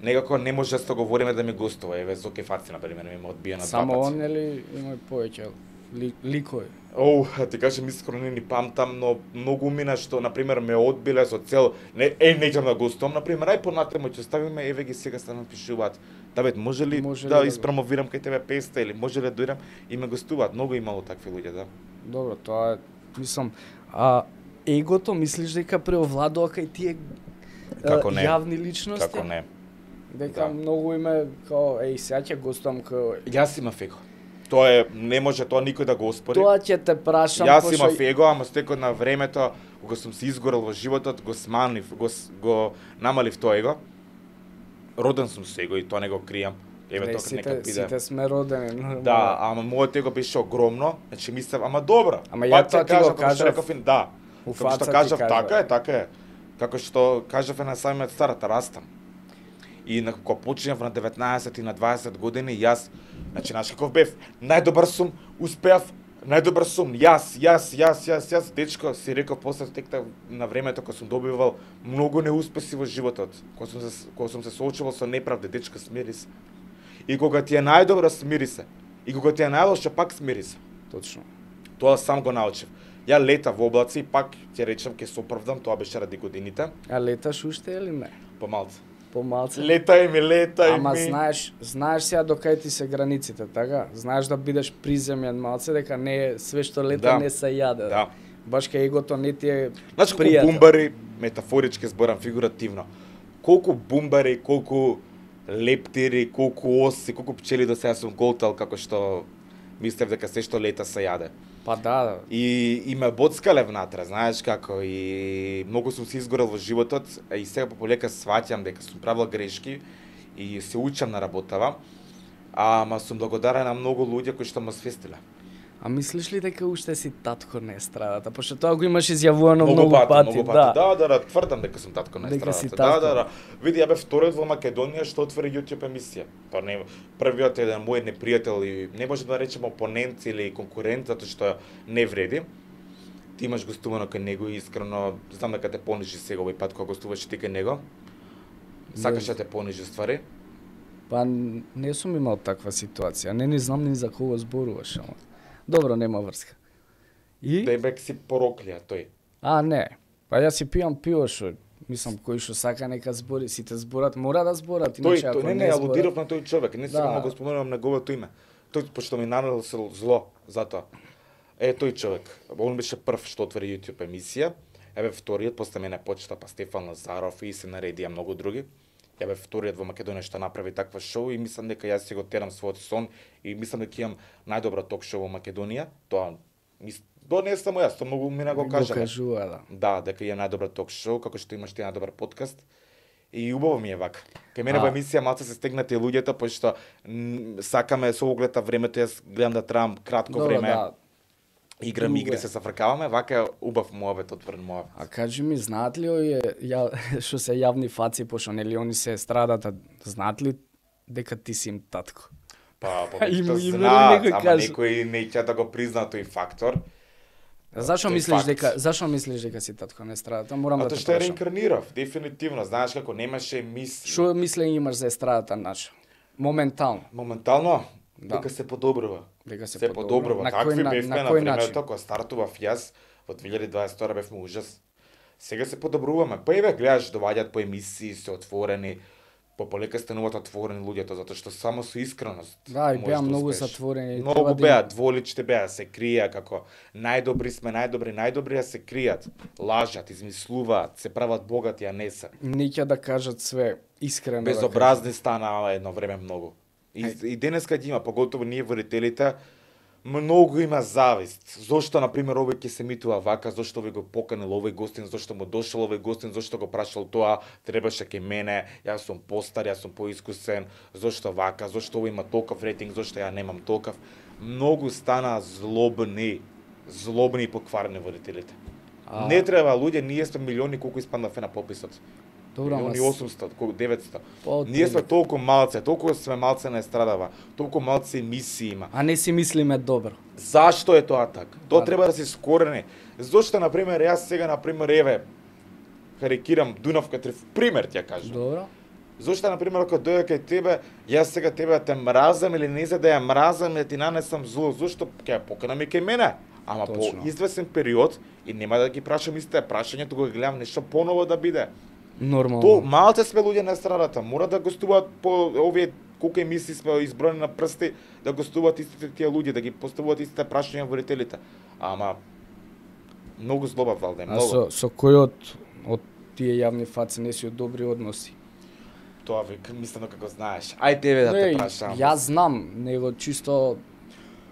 некако не може да се говориме да ми гостува. Еве Зоки Фаци на пример ми одбија на два пати. Само он или има повеќе ликови? Ти кажам искрено не ни памтам, но многу мина што на пример ме одбиле со цел неќам да гостувам, на пример ај понатаму ќе ставиме еве ги сега станам пишуваат. Давид, може ли да испромовирам кај тебе песента или може ли да дојдам и ме гостуваат? Многу имало такви луѓе, да. Добро, тоа е, мислам, егото мислиш дека преовладува кај тие јавни личности? Како не? Дека многу име као сега ќе гостувам као Јас имав его. Тоа е, не може тоа никој да го оспори. Тоа ќе те прашам. Јас имав его, ама со текот на времето, кога сум се изгорел во животот, го сманив, го намалив тоа его. Роден сум со его и тоа не го кријам. Еве тоа нека биде. Сите сме родени. Да, ама моето его беше огромно, значи мислев, ама добро. Ама ја тоа ти го кажав. Да. Како што кажав, така е. Како што кажав на самиот старат, растам. И кога почнав на 19 и на 20 години, јас, значи, знаеш каков бев, најдобар сум, успеав, најдобар сум, јас, дечко, си реков после текта на времето кога сум добивал многу неуспеси во животот, кога сум се соочувал со неправда, дечко, смири се. И кога ти е најдобро, смири се. И кога ти е најлошо, пак смири се. Точно. Тоа сам го научив. Ја лета во облаци, пак ќе речам ќе се оправдам, тоа беше ради годините. А леташ уште или не? Помалце. Летај ми. Ама знаеш сега докај ти се границите, така? Знаеш да бидеш приземјен малце, дека не е све што лета не се јаде. Да. Баш кај егото не ти е значи, колку бумбари, метафорички зборам, фигуративно, колку бумбари, колку лептири, колку оси, колку пчели до сега сум голтал, како што мислев дека се што лета се јаде. Па да. И ме боцкале внатре, знаеш како, и многу сум се изгорел во животот, и сега полека сваќам дека сум правил грешки и се учам на работава, ама сум благодарен на многу луѓе кои што ме свестиле. А мислиш ли дека уште си татко на естрадата? Пошто тоа го имаш изјавувано многу пати. Да, тврдам дека сум татко на Дека си естрадата. татко. Да. Види, ја бев вториот во Македонија што отвори YouTube емисија. Па не, првиот е еден мој непријател и не може да речеме опонент или конкурент, затоа што не вреди. Ти имаш гостувано кај него и искрено знам дека те понижи сега овој пат кога гостуваш ти кај него. Сакаш да те понижи ствари? Па не сум имал таква ситуација. Не знам ни за кого зборуваш, ама. Добро, нема врска. И? Бебек си пороклија тој. А, не. Па јас си пијам пиво што мислам кој што сака нека збори, сите зборат, мора да зборат, иначе ако не алудирав на тој човек, не сега Да. го споменувам неговото име. Тој пошто ми нанесел зло затоа. Тој човек, он беше прв што отвори YouTube емисија, вториот, после мене почета па Стефан Лазаров и се наредија многу други. Вториот во Македонија што направи таква шоу и мислам дека јас си го терам својот сон и мислам дека имам најдобро ток шоу во Македонија. Тоа не само јас, тоа многу мина го кажа. Го кажува, да. Да, дека имам најдобро ток шоу, како што имаш ти најдобар подкаст. И убаво ми е вака. Кај мене во емисија малце се стегнати луѓето, пошто сакаме со оглед на времето, јас гледам да требам кратко време. Да. Играм игри, се зафркаваме, вака е убав муавет, отворен муавет. А кажи ми, знаат ли овие што се јавни фаци, пошто нели они се страдат, знаат ли дека ти си им татко? Па, Им повеќето некој знаат, ама кажа. некои не ќе да го признаат тој фактор. Зашо тој мислиш дека си татко на естрадата? Морам да Затоа те што е прашам. реинкарнирав, дефинитивно. Знаеш како немаше Што мислење имаш за естрадата наша? Моментално. моментално Да. дека се подобрува. Дека се Се подобрува. На Такви кој на бевме на кој времето начин? кога стартував јас во 2022 бевме ужас. Сега се подобруваме. Па еве гледаш доваѓаат по емисии, се отворени, полека стануваат отворени луѓето затоа што само со искреност. Да, и можеш беа да многу успееш. затворени. Многу Треба да беа, им- дволични беа, се криеа како најдобри сме, најдобри, а се кријат, лажат, измислуваат, се прават богати, а не се. Не ќе да кажат све искрено. да Безобразни стана едно време многу. И денеска ги има, поготово ние водителите, многу има завист. Зошто, например, овој ќе се митува вака, зошто овој го поканил овој гостин, зошто му дошол овој гостин, зошто го прашал тоа, требаше кај мене, јас сум постар, јас сум поискусен, зошто вака, зошто овој има толков рейтинг, зошто ја немам толков. Многу стана злобни и покварени водителите. Не треба луѓе, ние сме милиони колку испаднавме на пописот. Добро, ама Милиони 800, колку 900. Па, Ние сме толку малце, толку сме малце на естрадава, толку малце емисии има. А не си мислиме добро. Зашто е тоа така? Тоа Да. треба да се скорени. Зошто, например, јас сега, например, еве, карикирам Дунавка Триф, пример ти ја кажам. Добро. Зошто, например, ако дојде кај тебе, јас сега тебе да те мразам или не за да ја мразам, да ти нанесам зло, зошто ќе ја поканам и кај мене? Ама Точно. по извесен период и нема да ги прашам истите прашања, туку го гледам нешто поново да биде. Нормално. Малце сме луѓе на естрадата, мора да гостуваат по овие колку емисии сме изброени на прсти, да гостуваат истите тие луѓе, да ги поставуваат истите прашања водителите. Ама многу злоба валде, А многу. со кој од тие јавни фаци не си од добри односи? Тоа мислам дека го знаеш. Ај тебе да те прашам. Јас знам, него чисто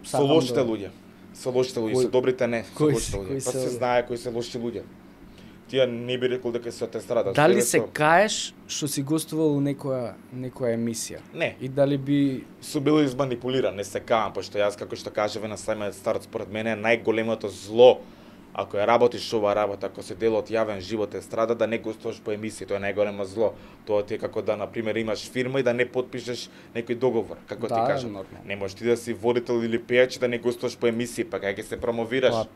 Со сакам лошите да- луѓе. Со лошите луѓе, Кој- со добрите не, со кој лошите се- луѓе. кој Па се се овие? знае кои се лоши луѓе. Тие не би рекол дека се од естрадата. Дали Се се каеш што си гостувал у некоја емисија? Не. И дали би Су бил изманипулиран, не се каам, пошто јас како што кажаве на самиот старт според мене најголемото зло ако ја работиш ова работа, ако се дел од јавен живот естрада, да не гостуваш по емисии, тоа е најголемо зло. Тоа ти е како да, например, имаш фирма и да не потпишеш некој договор, како Да, ти кажам. нормално. Не можеш ти да си водител или пејач и да не гостуваш по емисии, па кај ќе се промовираш? Па,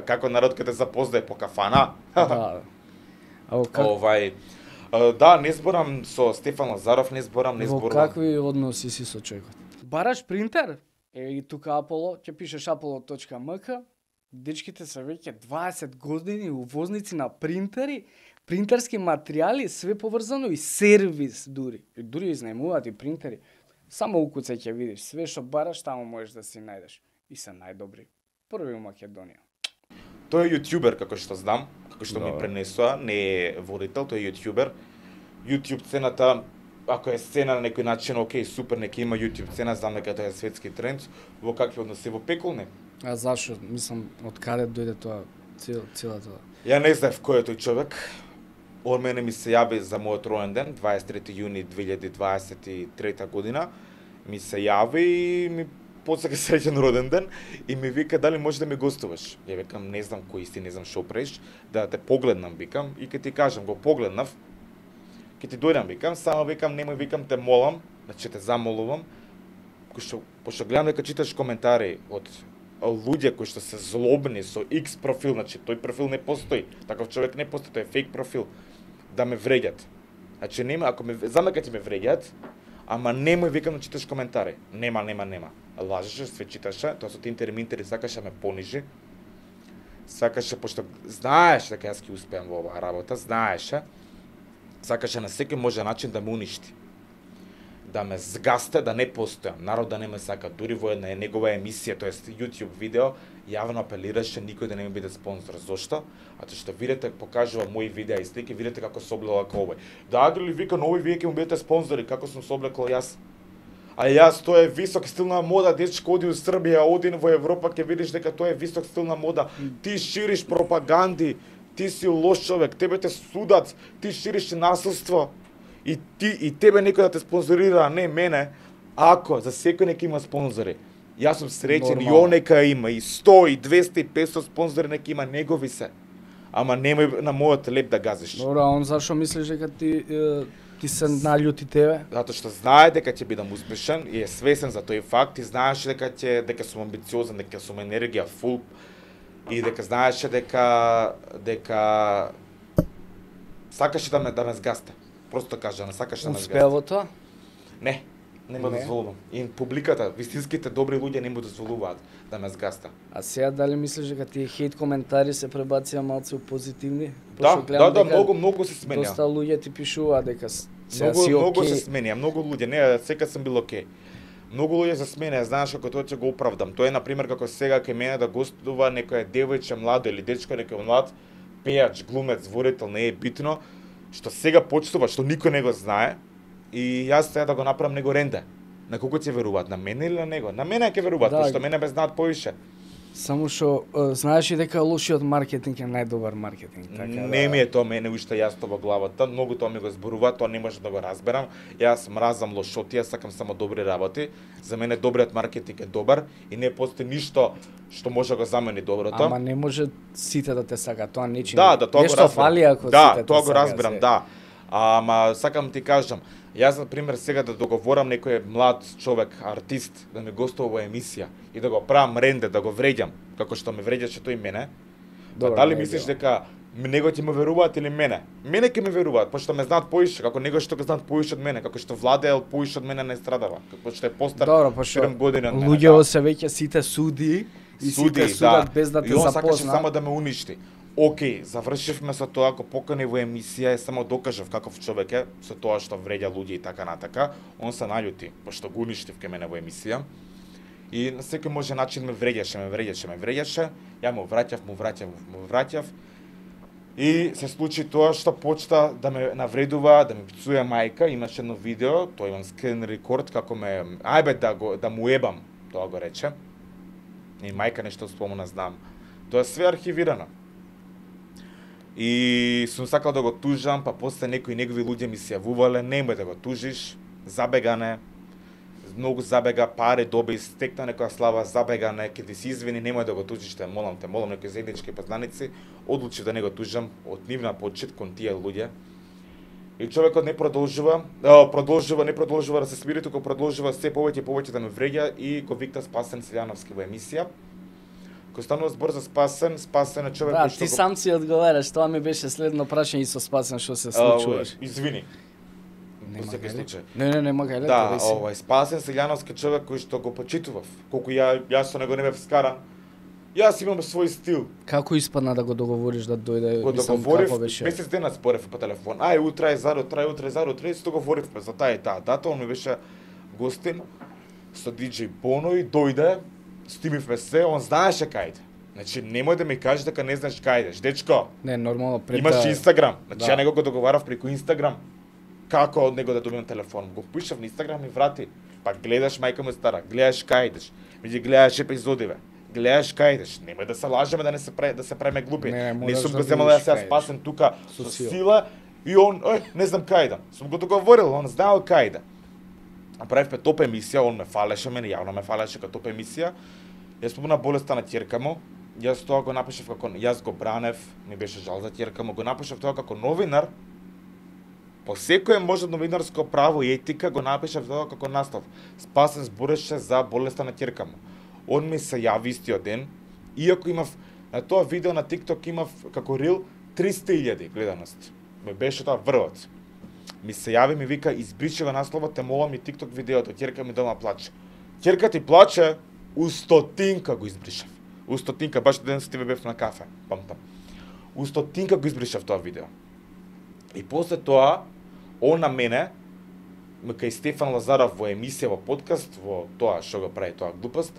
Како народ ќе те запознае по кафана? да. А Овај, да, не зборам со Стефан Лазаров, не зборам. во какви односи си со човекот? Бараш принтер? И тука Аполо, ќе пишеш apollo.mk. Дечките се веќе 20 години увозници на принтери, принтерски материјали, све поврзано и сервис дури. И дури изнајмуваат и принтери. Само укуцај ќе видиш, све што бараш таму можеш да си најдеш. И се најдобри. Први у Македонија. Тој е јутјубер, како што знам, како што ми Да. пренесоа, не е водител, тој е јутјубер. YouTube цената, ако е сцена на некој начин, окей, супер, нека има YouTube цена, знам дека тоа е светски тренд, во какви односи, во пеколни. А зашо? Мислам, од каде дојде тоа целата? Ја не знаев кој е тој човек. Он мене ми се јави за мојот роен ден, 23 јуни 2023 година. Ми се јави и ми после среќен роден ден и ми вика дали може да ми гостуваш. Ја викам не знам кој си, не знам што правиш, да те погледнам викам и ќе ти кажам, го погледнав. Ќе ти дојдам викам, само викам немој викам те молам, значи те замолувам. Пошто гледам дека читаш коментари од луѓе кои што се злобни со X профил, значи тој профил не постои, таков човек не постои, тој е фейк профил, да ме вреѓат. Значи нема, ако ме знам дека ќе ме вреѓат, ама немој викам да читаш коментари. Нема. Лажеше, све читаше, тоа со Тинтер и Минтер сакаше ме понижи. Сакаше, пошто знаеше дека јас ќе успеам во оваа работа, знаеше. Сакаше на секој може начин да ме уништи. Да ме згасте, да не постојам. Народ да не ме сака. Дури во една негова емисија, тоест YouTube видео, јавно апелираше никој да не ми биде спонзор. Зошто? Ато што видите, покажува мои видеа и слики, видите како се облегла како овој. Да, ли вика, нови вие ќе му бидете спонзори, како сум се облекол јас. А јас, тоа е висок стил на мода, дечко оди у Србија, оди во Европа, ќе видиш дека тоа е висок стил на мода. Ти шириш пропаганди, ти си лош човек, тебе те судат, ти шириш насилство. И тебе некој да те спонзорира, а не мене, ако за секој нека има спонзори. Јас сум среќен и он нека има и 100 и 200 и 500 спонзори нека има, негови се. Ама немој на мојот леп да газиш. Добро, а он зашо мислиш дека ти се наљути тебе? Затоа што знае дека ќе бидам успешен и е свесен за тој факт и знаеше дека сум амбициозен, дека сум енергија фул и дека знаеше дека сакаше да ме згасте. Просто кажа, не сакаш да ме згасте. Успеа во тоа? Не му дозволувам. И публиката, вистинските добри луѓе не му дозволуваат да ме згаста. А сега дали мислиш дека тие хейт коментари се пребација малце у позитивни? Да, многу се сменја. Доста луѓе ти пишуваат дека сега си Многу окей. се сменја, многу луѓе, не, секад сум бил окей. Многу луѓе се сменја, знаеш како тоа ќе го оправдам. Тоа е на пример како сега кај мене да гостува некој девојче младо или дечко некој млад пејач, глумец, ворител, не е битно, што сега почнува, што никој не го знае. И јас сега да го направам него ренде. На кого ќе веруваат? На мене или на него? На мене ќе веруваат, Да. пошто мене ме знаат повише. Само што знаеш и дека лошиот маркетинг е најдобар маркетинг, така Не ми е тоа мене уште јасно во главата, многу тоа ми го зборува, тоа не може да го разберам. Јас мразам лошотија, сакам само добри работи. За мене добриот маркетинг е добар и не постои ништо што може да го замени доброто. Ама не може сите да те сакаат, тоа нечи. Да, тоа го нешто разберам. фали ако да, сите те тоа го сакаат, разберам, се. да. Ама сакам ти кажам, јас на пример сега да договорам некој млад човек, артист, да ми гостува во емисија и да го правам ренде, да го вреѓам, како што ме вреѓаше тој мене. Добро, Дали не е мислиш било. дека него ќе ме веруваат или мене? Мене ќе ме веруваат, пошто ме знаат поише, како него што го знаат поише од мене, како што Владе е поише од мене на естрадава, како што е постар Добро, пошто 7 години од мене. луѓето се веќе сите суди и Суди, сите судат без да те и он сакаше запозна. само да ме уништи. Океј, завршивме со тоа, ако покани во емисија, само докажав каков човек е, со тоа што вреѓа луѓе и така натака, он се наљути, пошто го уништив ке мене во емисија. И на секој може начин ме вреѓаше, ја му враќав. И се случи тоа што почна да ме навредува, да ме пцуе мајка, имаше едно видео, тоа имам скрин рекорд како да му ебам, тоа го рече. И мајка нешто спомна, знам. Тоа е све архивирано. И сум сакал да го тужам, па после некои негови луѓе ми се јавувале, немој да го тужиш, забегане, многу забега, пари доби, стекна некоја слава, забегане, ќе ти се извини, немој да го тужиш, те молам, некои заеднички познаници, одлучив да не го тужам од нивна почит кон тие луѓе. И човекот не продолжува да се смири, туку продолжува се повеќе и повеќе да ме вреѓа и го викта Спасен Силјановски во емисија. Кој станува збор за Спасен е човек Да, кој што ти сам си одговараш, тоа ми беше следно прашање и со Спасен што се случуваш. Извини. Нема Во секој гајле. случај. Не, гајле, Да, реси. Спасен Силјановски човек кој што го почитував. Колку јас со него не бев скаран. Јас имам свој стил. Како испадна да го договориш да дојде, Го мислам, договорив, како беше? месец дена спорев по телефон. Утре е зару, се договоривме за таа и таа дата, он ми беше гостин со диџеј Боно и дојде, стимивме се, он знаеше кај иде. Значи, немој да ми кажеш дека не знаеш кај идеш, дечко. Не, нормално пред Имаш Инстаграм. Значи, Да. ја него го договарав преку Инстаграм. Како од него да добиам телефон? Го пишав на Инстаграм и врати. Па гледаш, мајка му стара, гледаш кај идеш. Меѓу гледаш епизодиве. Гледаш кај идеш. Немој да се лажеме да се правиме глупи. Не, Не мораш сум да го земал видиш јас кај Спасен тука Со со сила. сила и он, не знам кај идам. Сум го договорил, он знаел кај иде. Направивме топ емисија, он ме фалеше, мене јавно ме фалеше како топ емисија. Јас спомна болеста на ќерка му. Јас тоа го напишав како јас го бранев, ми беше жал за ќерка му, го напишав тоа како новинар. По секое може новинарско право и етика го напишав тоа како наслов. Спасен збореше за болеста на ќерка му. Он ми се јави истиот ден, иако имав на тоа видео на TikTok имав како рил 300.000 гледаност. Ме беше тоа врвот. Ми се јави, ми вика, избриши го насловот, те молам и TikTok видеото, ќерка ми дома плаче. Ќерка ти плаче, у 100 го избришав. У 100, баш ден со тебе бев на кафе, памтам. У 100 го избришав тоа видео. И после тоа, он на мене, кај Стефан Лазаров во емисија, во подкаст, во тоа што го прави тоа глупост,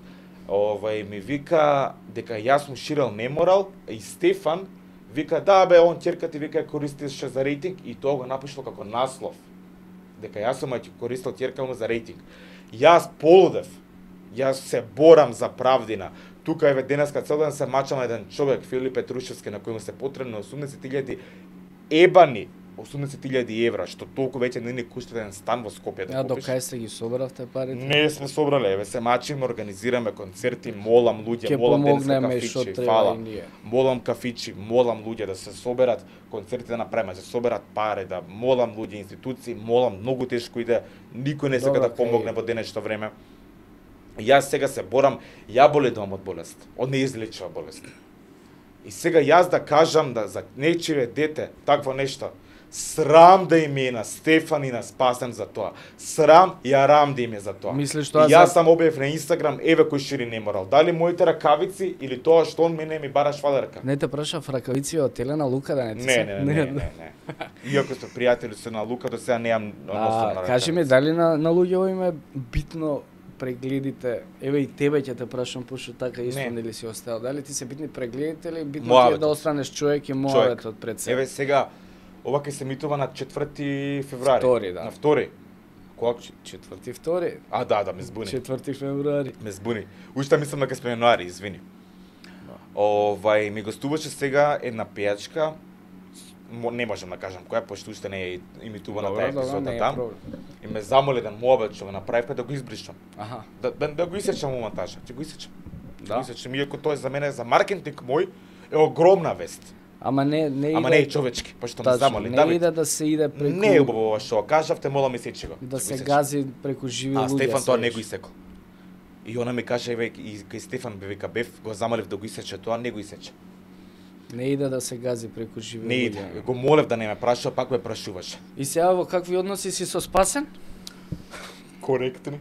ми вика дека јас му ширал неморал и Стефан вика да бе, он ќерка ти вика користеше за рейтинг и тоа го напишал како наслов. Дека јас сум користел ќерка му за рейтинг. Јас полудев. Јас се борам за правдина. Тука еве денеска цел ден се мачам еден човек Филип Петрушевски на кој му се потребно 80.000 ебани 80.000 евра, што толку веќе не ни кошта еден стан во Скопје да До купиш. кај се ги собравте парите? Не сме собрале, еве се мачиме, организираме концерти, молам луѓе, молам помогнеме што кафичи, треба фала. и ние. Молам кафичи, молам луѓе да се соберат, концерти да направиме, да се соберат пари, да молам луѓе, институции, молам, многу тешко иде, никој не сака Добро, да помогне во денешно време. Јас сега се борам, ја боледувам од болест, од неизлечива болест. И сега јас да кажам да за нечие дете такво нешто, срам да им е на Стефан и на Спасен за тоа. Срам и арам да им е за тоа. Мислиш тоа и јас за- сам објавив на Инстаграм, еве кој шири неморал. Дали моите ракавици или тоа што он мене ми бара швалерка? Не те прашав ракавици од Елена Лука да не ти се? Не. Иако сме пријатели со на Лука, до сега неам односно на Кажи ми, дали на луѓето им е битно прегледите, еве и тебе ќе те прашам, пошто така исто Не. нели си остал. Дали ти се битни прегледите или битно ти е Моабетот. да останеш човек и моабетот пред себе? Еве сега, ова ќе се емитува на 4 февруари. Втори, да. На 2. Кога? 4-2, Да, ме збуни. 4 февруари. Ме збуни. Уште мислам дека сме јануари, извини. Ми гостуваше сега една пејачка, не можам да кажам која, пошто уште не е имитувана таа епизода не е там. проблем. И ме замоли да муабет што го направивме да го избришам. Аха. Да го исечам у монтажа, ќе го исечам. Да. Го исечам, иако тоа за мене за маркетинг мој е огромна вест. Ама не Ама не е човечки, пошто ме Тачно, замоли. не Давид, иде да се иде преку... не е убаво ова што кажавте, молам исечи го. Да Ќе го се исечам. гази преку живи луѓе. А Стефан тоа не свеш. го исекол. И она ми каже, еве, и кај Стефан вика бев, го замолив да го исече, тоа не го исече. Не иде да се гази преку живи Не луѓе. иде. Го молев да не ме прашува, пак ме прашуваше. И сега во какви односи си со Спасен? Коректни.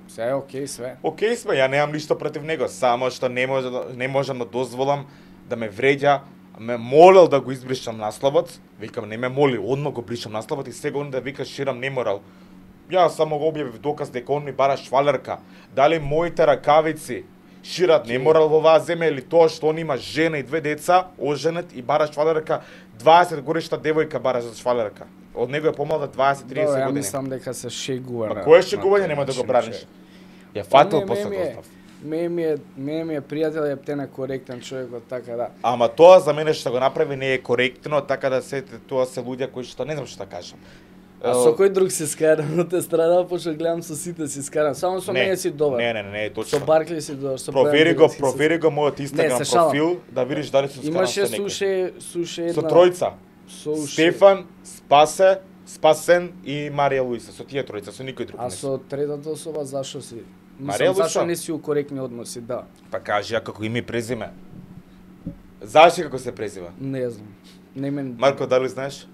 Сега е окей све. Океј сме, ја немам ништо против него, само што не можам да дозволам да ме вреѓа, ме молел да го избришам насловот, викам не ме моли, одма го бришам насловот и сега он да вика ширам неморал. Јас само го објавив доказ дека он ми бара швалерка. Дали моите ракавици шират неморал во оваа земја или тоа што он има жена и 2 деца, оженет и бара швалерка, 20 годишна девојка бара за швалерка. Од него е помалда 20-30 Ја години. мислам дека се шегува. Ма на- кое шегување на нема да го тој браниш? начин, Ја фатил Не, после ми е- дознав. Мене ми е пријател, ептен е коректен човекот, така да. Ама тоа за мене што го направи не е коректно, така да тоа се луѓе кои што не знам што да кажам. А со кој друг се скарам од естрада, пошто гледам со сите си скарам. Само со мене си добар. Не, Со точно. Баркли си добар, со Провери Бојан го, Дилек си провери го мојот Не, Инстаграм се шалам. профил, да видиш дали се скарам Имаше со некој. суше една... Со тројца. Со уше. Стефан, Спасен и Марија Луиса, со тие тројца, со никој друг А не. со третата особа зашо си? Марија Мислам, зашо Луиса? не си у коректни односи, да. Па кажи ја како име и презиме. Зашто како се презива? Не знам. Не мен... Марко, дали знаеш?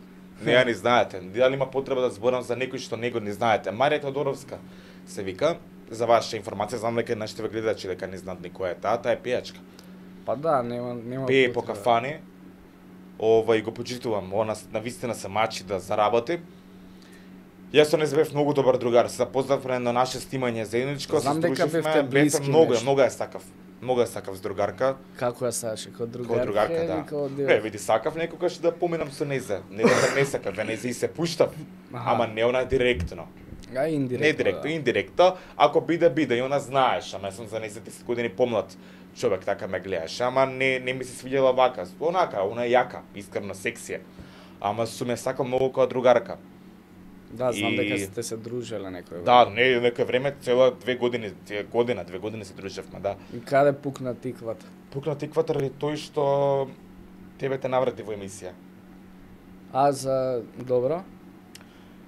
Не ја не знаете. Дали има потреба да зборам за некој што него не знаете? Марија Тодоровска се вика. За ваша информација, знам дека нашите ве гледачи дека не знаат ни која е таа е пејачка. Па да, нема Пее по потреба. кафани. И го почитувам. Она навистина се мачи да заработи. Јас со неј бев многу добар другар. Се запознавме на наше снимање заедничко, се Знам дека сдруживме, бевте блиски многу, нешто. многу ја сакав. Многу ја сакав с другарка. Како ја сакаш, како другарка, Како другарка, или да. како дел? Не, види, сакав некогаш да поминам со нејзе. Не дека не сакав, нејзе и се пуштав. Аха. Ама не она директно. А индиректно. Не директно, да. индиректно. Ако биде, и она знаеш, ама јас сум за 10 години помлад човек, така ме гледаш. Ама не ми се свиѓала вака. Онака, она е јака, искрено сексија. Ама сум ја сакал многу како другарка. Да, знам дека сте се дружеле некој. Да, некој време, цела 2 години се дружевме, да. И каде пукна тиквата? Пукна тиквата ради тој што тебе те наврати во емисија. А за добро?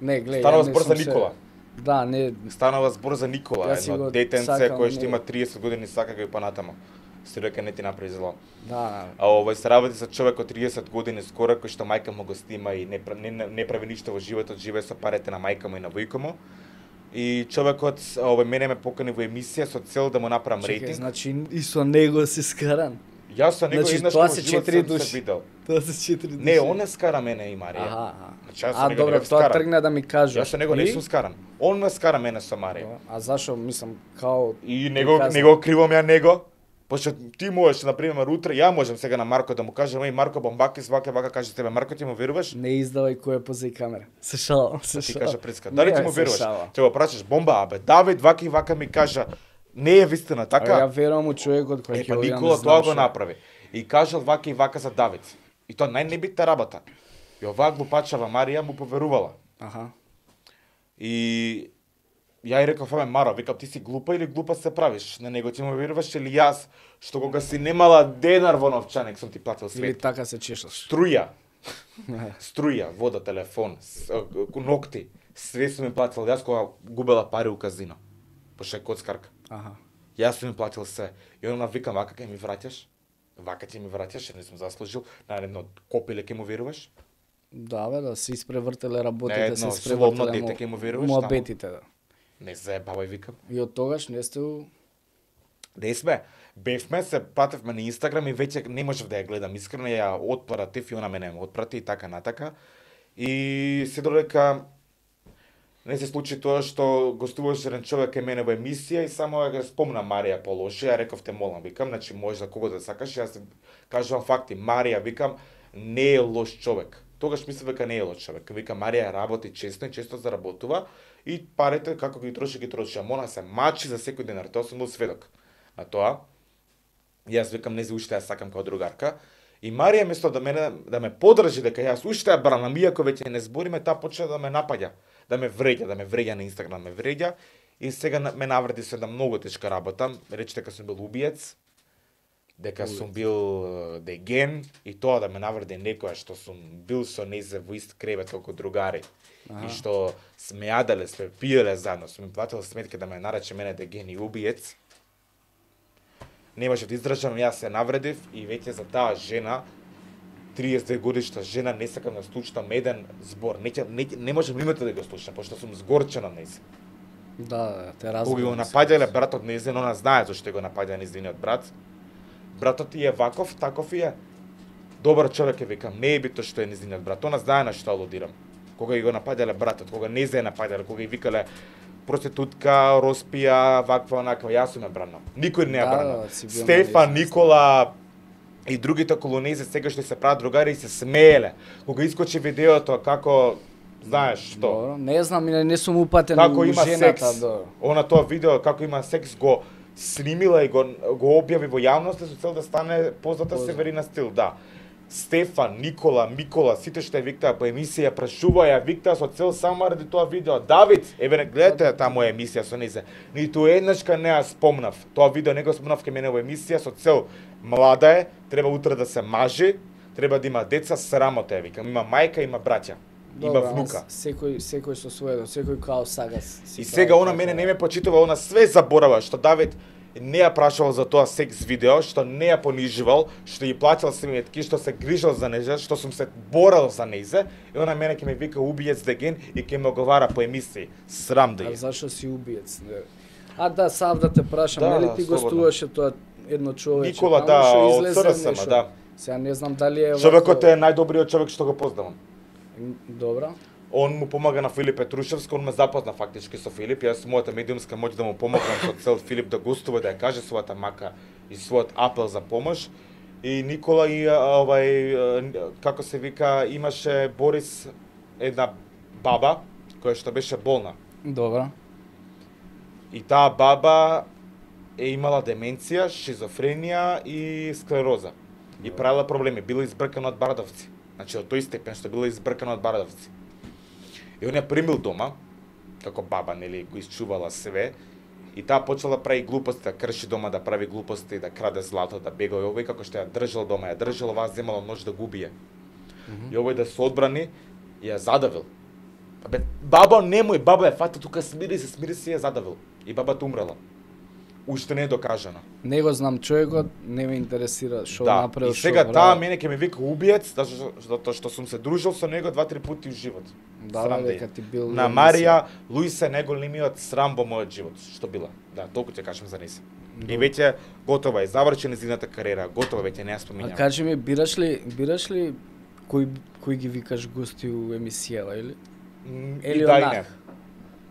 Не, гледај, Станува збор за Никола. Да, не. Станува збор за Никола, едно детенце кој што има 30 години сака го и понатамо. Се дека не ти направи зло. Да. А се работи за човек од 30 години скоро кој што мајка му го снима и не прави ништо во животот, живее со парите на мајка му и на војко му. И човекот мене ме покани во емисија со цел да му направам рейтинг. Значи и со него си скаран. Јас со него еднаш во живот сум се видел. Тоа се 4 души. Не, он не скара мене и Марија. Значи, добро, тоа тргна да ми кажеш. Јас со него не сум скаран. Он ме скара мене со Марија. А зашо, мислам, као... И него кривам ја него. Пошто ти можеш, например, утре, ја можам сега на Марко да му кажам, еј Марко Бомбакис, вака каже тебе, Марко ти му веруваш? Не издавај кој е позај камера. Се шалам. Ти кажа прицка, дали ти му веруваш? Ќе го прашаш бомба, абе, Давид вака и вака ми кажа, не е вистина така. Ја верувам у човекот кој ќе Никола тоа го направи. И кажал вака и вака за Давид. И тоа најнебитна работа. И оваа глупачава Марија му поверувала. Аха. И ја и реков, Маро, викам, ти си глупа или глупа се правиш? На него ти му веруваш или јас, што кога си немала денар во новчаник, сум ти платил свет. Или така се чешаш. Струја, вода, телефон, ногти, све сум ми платил јас кога губела пари у казино. Пошто е коцкарка. Аха. Јас сум ми платил се. И она викам, вака ќе ми враќаш? Вака ти ми враќаш, не сум заслужил. На едно копиле ќе му веруваш? Да, бе, да се испревртеле работите, се испревртеле дете ќе му веруваш? Муабетите, да. Не заебавај, викам. И од тогаш не сте Не сме. Бевме, се пратевме на Инстаграм и веќе не можев да ја гледам. Искрено ја отпратив и она мене ме отпрати и така натака. И се додека не се случи тоа што гостуваше еден човек кај мене во емисија и само ја спомна Марија полоше, ја реков те молам, викам, значи може да кого да сакаш, јас кажувам факти, Марија, викам, не е лош човек. Тогаш мислев дека не е лош човек. Викам, Марија работи често и често заработува и парите како ги троши, ама се мачи за секој денар, тоа сум бил сведок на тоа. Јас викам, не уште ја сакам као другарка. И Марија место да ме подржи дека јас уште ја бранам, иако веќе не збориме, таа почна да ме напаѓа, да ме вреѓа на Инстаграм, ме вреѓа и сега ме навреди се да многу тешка работа, рече дека сум бил убиец, дека сум бил деген и тоа да ме навреди некоја што сум бил со нејзе во ист кревет како другари. И што сме јаделе, сме пиеле заедно, сум им платил сметки да ме нарече мене деген и убиец. Не можев да издржам, јас се навредив и веќе за таа жена, 32 годишна жена, не сакам да слушам еден збор. Не можам името да го слушам, пошто сум згорчена нејзе. Да, те разбирам. Кога го напаѓале братот нејзе, она знае зашто го напаѓа нејзиниот брат. Братот ти е ваков, таков и е. Добар човек е, викам, не е бито што е нејзиниот брат. Она знае на што алудирам. Кога ги го напаѓале братот, кога не се напаѓале, кога ги викале проститутка, роспија, ваква, онаква, јас сум ја бранам. Никој не ја бранам. Стефан, Никола и другите околу нејзе сега што се прават другари и се смееле. Кога искочи видеото како знаеш што? Добро, не знам, не сум упатен како у има жената. Секс, она тоа видео како има секс го снимила и го објави во јавност со цел да стане позната Северина Стил, да. Стефан, Никола, Микола, сите што ја виктаа по емисија, прашуваја, виктаа со цел само ради тоа видео. Давид, еве гледате таа моја емисија со нејзе. Ниту еднашка не ја спомнав. Тоа видео не го спомнав кај мене во емисија со цел млада е, треба утре да се мажи, треба да има деца, срамота е, викам. Има мајка, има браќа. Има внука. Секој со своето, секој као сага. И сега она мене не ме почитува, она све заборава што Давид не ја прашувал за тоа секс видео, што не ја понижувал, што ја платил сметки, што се грижал за нејзе, што сум се борел за нејзе, и она мене ќе ме вика убиец деген и ќе ме оговара по емисии. Срам да е. А зашо си убиец? А да, сам да те прашам, нели ти гостуваше тоа едно човече? Никола, да, од СРСМ, да. Сега не знам дали е... Човекот е најдобриот човек што го познавам. Добра. Он му помага на Филип Петрушевски, он ме запозна фактички со Филип, јас мојата медиумска моќ да му помогнам со цел Филип да гостува, да ја каже својата мака и својот апел за помош. И Никола и како се вика, имаше Борис една баба која што беше болна. Добра. И таа баба е имала деменција, шизофренија и склероза. И правила проблеми, била избркана од бардовци. Значи од тој степен што била избркана од бардовци. И он ја примил дома, како баба, нели, го исчувала све, и таа почела да прави глупости, да крши дома, да прави глупости, да краде злато, да бега и овој, како што ја држал дома, ја држал, оваа земала нож да го убие. И овој да се одбрани, ја задавил. Бе, баба, немој, баба ја фата тука, смири се, ја задавил. И бабата умрела. Уште не е докажано. Не го знам човекот, не ме интересира што Да, направил, и сега што таа прави. мене ќе ме вика убиец, затоа што сум се дружил со него 2-3 пати в живот. Да, Срам дека е. ти бил На Марија, Луиса е најголемиот срам во мојот живот, што била. Да, толку ќе кажам за неси. И веќе готова е, заврши незината кариера, готова веќе не ја А споминам. кажи ми, бираш ли кој ги викаш гости у емисијава или? И Или да и онак? не.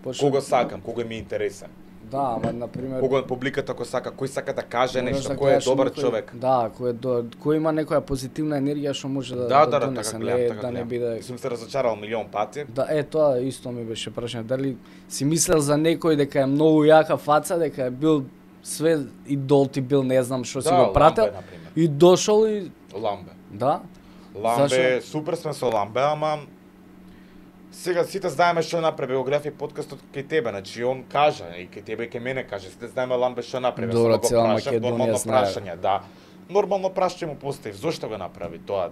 Почнем- Кого сакам, кого ми е интересен. Да, ама на пример Кого публиката кој сака, кој сака да каже можеш нешто, да кој е гледаш добар некој- човек. Да, кој има некоја позитивна енергија што може да Да, донесе, така не гледам, така да не гледам. биде. Сум се разочарал милион пати. Да, тоа исто ми беше прашање. Дали си мислел за некој дека е многу јака фаца, дека е бил све идол ти бил, не знам што си Да, го прател Ламбе, например. и дошол и Ламбе. да. Ламбе, супер сме со Ламбе, ама сега сите знаеме што направи биографија подкастот кај тебе, значи он кажа и кај тебе и кај мене каже, сите знаеме Ламбе што направи, Добро, само го цела прашав, Македонија нормално знае. прашање, да. Нормално прашање му поставив, зошто го направи тоа,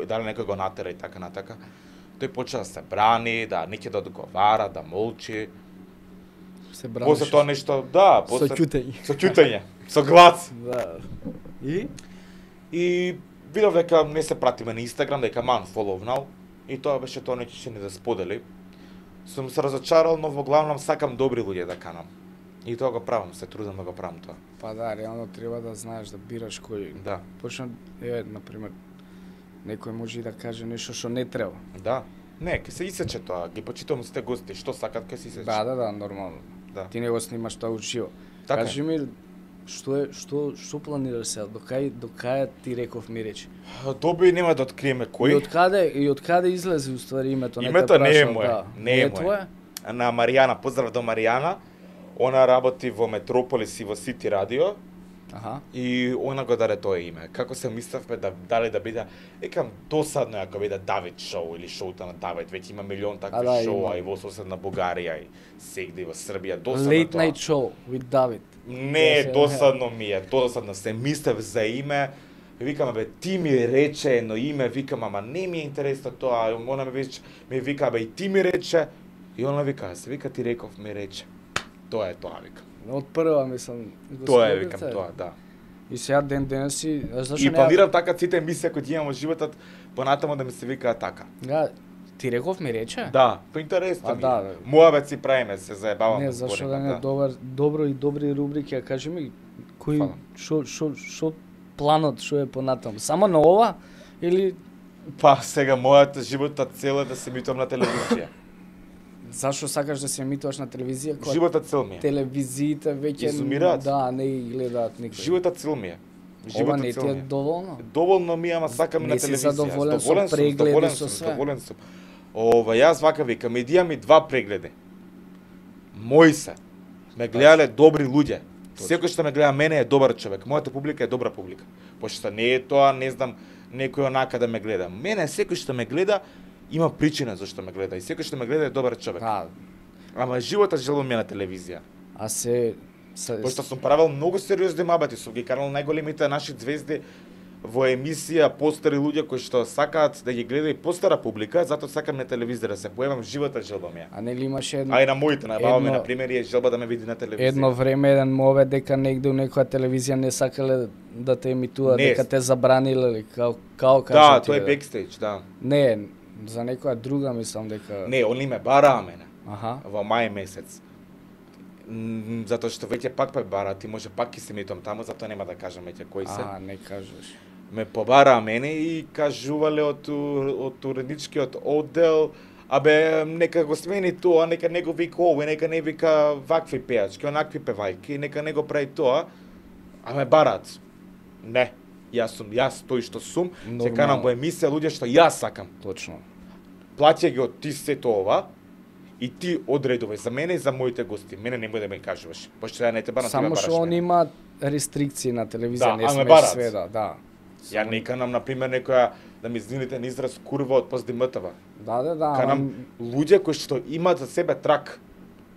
дали некој го натера и така натака. Тој почна да се брани, да не ќе да одговара, да молчи. Се браниш. После тоа нешто, да, со после ќутење. со ќутење, со глас. Да. И И видов дека не се пратиме на Инстаграм, дека ман фоловнал, и тоа беше тоа неќе ще ни да сподели. Сум се разочарал, но во главном сакам добри луѓе да канам. И тоа го правам, се трудам да го правам тоа. па да, реално треба да знаеш да бираш кој. Да, Почна на пример некој може и да каже нешто што не треба. да. Не, ке се исече тоа, ги почитувам сите гости, што сакат ке се исече. Да, нормално. Да. Ти не го снимаш тоа уживо. Така е. Кажи ми што планираш сега? До кај ти реков ми речи? Доби нема да откриеме кој. И од каде излезе уствари името? Името не е прашал, мое, да. не е твое? На Маријана, поздрав до Маријана. Она работи во Метрополис и во Сити Радио. Аха. И она го даде тоа име. Како се мислевме дали да биде, екам досадно е ако биде Давид шоу или шоута на Давид, веќе има милион такви да, шоуа има. и во соседна Бугарија и сегде во Србија, досадно Late тоа. Night Show with David. Не, Да, досадно ми е, досадно се мислев за име. Викам, бе, ти ми рече едно име, викам, ама не ми е интересно тоа. Она ми вика, бе, и ти ми рече. И она вика, се вика, ти реков ми рече. Тоа е тоа, вика. Од прва мислам. Тоа е, господица. викам, тоа, да. И сега ден си, а зашо И не? планирам така сите емисија кои ги имам во животот, понатаму да ми се викаат така. Да, ти реков ми рече? Да, по интересно А, ми. да, Моја си правиме, се заебавам. Не, да зашо збориме, да не добро и добри рубрики, а кажи ми кој Фала. што планот што е понатаму? Само на ова или Па сега мојата животна цел е да се емитувам на телевизија. зашо сакаш да се емитуваш на телевизија? Кога Животна цел ми е. телевизиите веќе Изумираат. Да, не ги гледаат никој. Животна цел ми е. Ова Животна не цел ти ми е е. доволно? Доволно ми е, ама сакам и Не на си телевизија. задоволен со Задоволен сум, прегледи, задоволен со сум, све? задоволен сум. Јас вака викам, медија ми 2 прегледи. Мои се. Ме гледале добри луѓе. Секој што ме гледа мене е добар човек. Мојата публика е добра публика. Пошто не е тоа, не знам, некој онака да ме гледа. Мене секој што ме гледа има причина зашто ме гледа и секој што ме гледа е добар човек. Да, Ама животот желам ми е на телевизија. а се Пошто сум правел многу сериозни мабати, сум ги канал најголемите наши звезди во емисија, постари луѓе кои што сакаат да ги гледа и постара публика, затоа сакам на телевизија да се појавам, животот желба ми е. а нели имаше едно А и на моите, на баба ми, едно- на пример, е желба да ме види на телевизија. едно време еден мове дека негде у некоја телевизија не сакале да те емитува, Не. дека те забраниле или као Да, кажа тоа е бекстејдж, да. Не, за некоја друга мислам дека Не, они ме бараа мене Аха. во мај месец. Затоа што веќе пак ме бараа, ти може пак ќе се метам таму, затоа нема да кажам веќе кои се. А, не кажеш. Ме побараа мене и кажувале од уредничкиот оддел, абе нека го смени тоа, нека не го вика овој, нека не вика вакви пејачки, онакви певајки, нека не го прави тоа, а ме бараат. Не, јас тој што сум, ќе Нормално. канам во емисија луѓе што јас сакам. Точно. Плаќај ги од ти сето ова и ти одредувај за мене и за моите гости. Мене немој да ме кажуваш, пошто ја не те барам, ти ме Само бараш што он мене. има рестрикции на телевизија, Да, не а ме смеш бараат. све да. Ја не канам, например, некоја, да ми извините на израз, курва од ПСДМТВ. Да, Канам луѓе кои што имаат за себе трак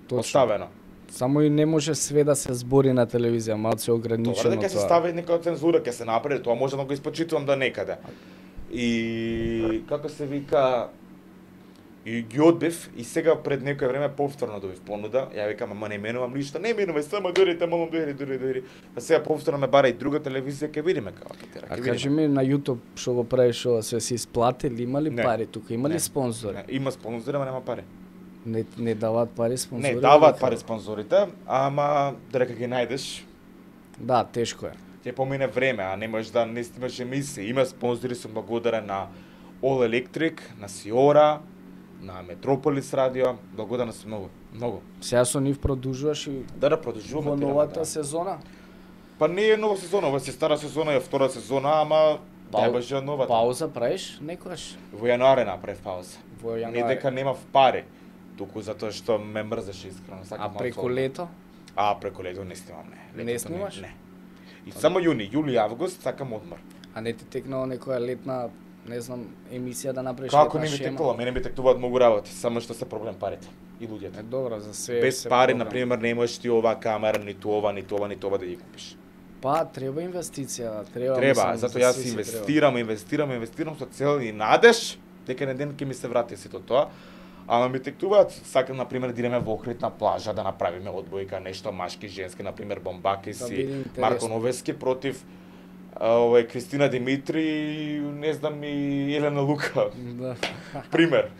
поставено. Само и не може све да се збори на телевизија, малку се ограничено тоа. Дека се стави нека цензура, ќе се направи, тоа може да го испочитувам до некаде. И како се вика, и ги одбив и сега пред некој време повторно добив понуда. Ја викам, ама не менувам ништо, не менувај, само дојдете, молам, дојди. А сега повторно ме бара и друга телевизија, ќе видиме како ќе тера. А кажи ми на YouTube што го правиш ова, се си исплатили, има ли пари тука, има ли спонзори? Не, има спонзори, ама нема пари. Не даваат пари спонзори? Не даваат пари спонзорите, ама додека ги најдеш, да, тешко е. Ќе помине време, а не можеш да не снимаш емисии. Има спонзори, сум благодарен на All Electric, на Сиора, на Метрополис радио, благодарен сум многу. Сега со нив продолжуваш и да продолжуваме во новата сезона? Па не е нова сезона, ова е стара сезона, е втора сезона, ама баше новата. Пауза правиш некогаш? Во јануари направив пауза. Во јануари. Не дека немав пари, туку затоа што ме мрзеше искрено. А преку лето? Преку лето не снимам, не. Не снимаш? Не. И само јуни, јули, август сакам одмор. А не ти текнало некоја летна, не знам, емисија да направиш како летна не ми шема? текнало, мене ми текнуваат многу работи, само што се проблем парите и луѓето. Е добро, за све. Без пари, на пример, не можеш ти оваа камера, ниту ова да ги купиш. Па треба инвестиција, треба. Треба, затоа јас инвестирам со цел и надеж дека на ден ќе ми се врати сето тоа. Ама ми тектуваат, сакам на пример да идеме во Охрид на плажа да направиме одбојка, нешто машки, женски, на пример Бомбакис и Марко Новески против Кристина Димитри, не знам и Елена Лука. Да. Пример.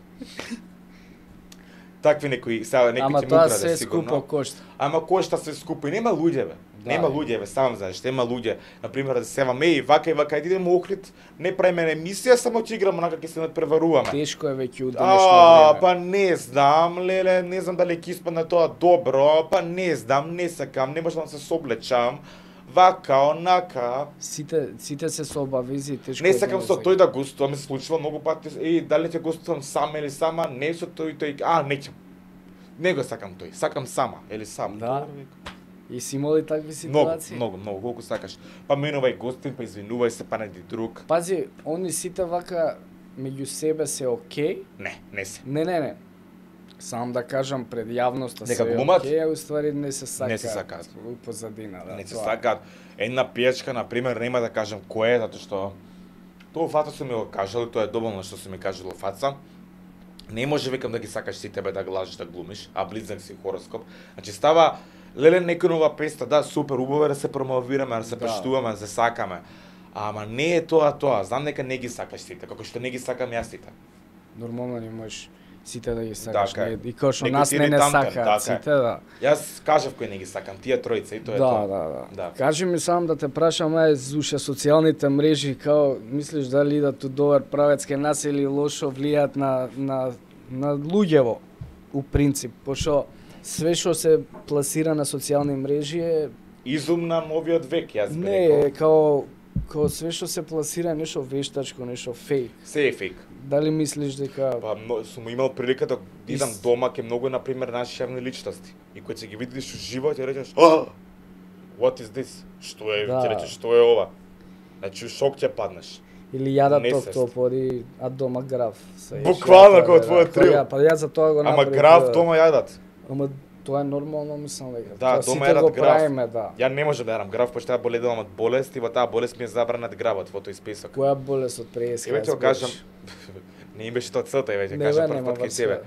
Такви некои, сега некои ќе тоа мутраде се сигурно. скупо кошта. Ама кошта се скупо и нема луѓе бе. Да, Нема луѓе бе, сам знаеш, нема луѓе. На пример да севаме и вака, идеме во Охрид, не правиме емисија, само ќе играме онака ќе се надпреваруваме. Тешко е веќе у денешно време. Па не знам, леле, не знам дали ќе испадне тоа добро, па не знам, не сакам, не можам да се соблечам. Вака, онака. Сите се со обавези, тешко. Не сакам со тој да гостувам, се случува многу пати. Дали ќе гостувам сама или сама, не со тој, неќам. Не го сакам тој, сакам сама или сам. Да. И си имали такви ситуации? Многу, колку сакаш. Па менувај гостин, па извинувај се, па неди друг. Пази, они сите вака меѓу себе се окей? Не се. Не. Сам да кажам пред јавноста дека се глумат? окей, а уствари не се сака. Не се сакаат. У позадина, да. Не се сакаат. Една пијачка, на пример, нема да кажам кој е, затоа што тоа фата се ми го кажали, тоа е доволно што се ми кажало фаца. Не може викам да ги сакаш си тебе да лажеш да глумиш, а близнак си хороскоп. Значи става леле некој нова песта, да, супер, убаво е да се промовираме, да се прештуваме, да се сакаме. Ама не е тоа. Знам дека не ги сакаш сите, како што не ги сакам јас сите. Нормално не можеш сите да ги сакаш. Така е. И како што Некои нас ти не иритантен, сакаат така е. сите, да. Јас кажав кој не ги сакам, тие тројца и тоа е тоа. Да. Кажи ми само да те прашам, зуша социјалните мрежи, као мислиш дали идат у добар правец кај нас или лошо влијаат на луѓево, у принцип, пошто све што се пласира на социјални мрежи е Изум на новиот век, јас би не рекол. е као све што се пласира е нешто вештачко, нешто фейк. Се е фейк. Дали мислиш дека Па сум имал прилика да идам дома ке многу на пример наши јавни личности и кога ќе ги видиш уживо ќе речеш what is this? Што е? Ќе речеш што е ова? Значи шок ќе паднеш. или јадат октоподи, а дома граф. Буквално како твоја трил. Па ја за тоа го направив. Ама граф дома јадат. Ама тоа е нормално, мислам дека. Да, тоа дома сите го јадат граф. правиме, да. Ја не можам да јадам граф, пошто ја боледувам од болест и во таа болест ми е забранет гравот во тој список. Која болест од преска? Еве ќе кажам, не им беше тоа целта, еве ќе кажам прв пат кај тебе.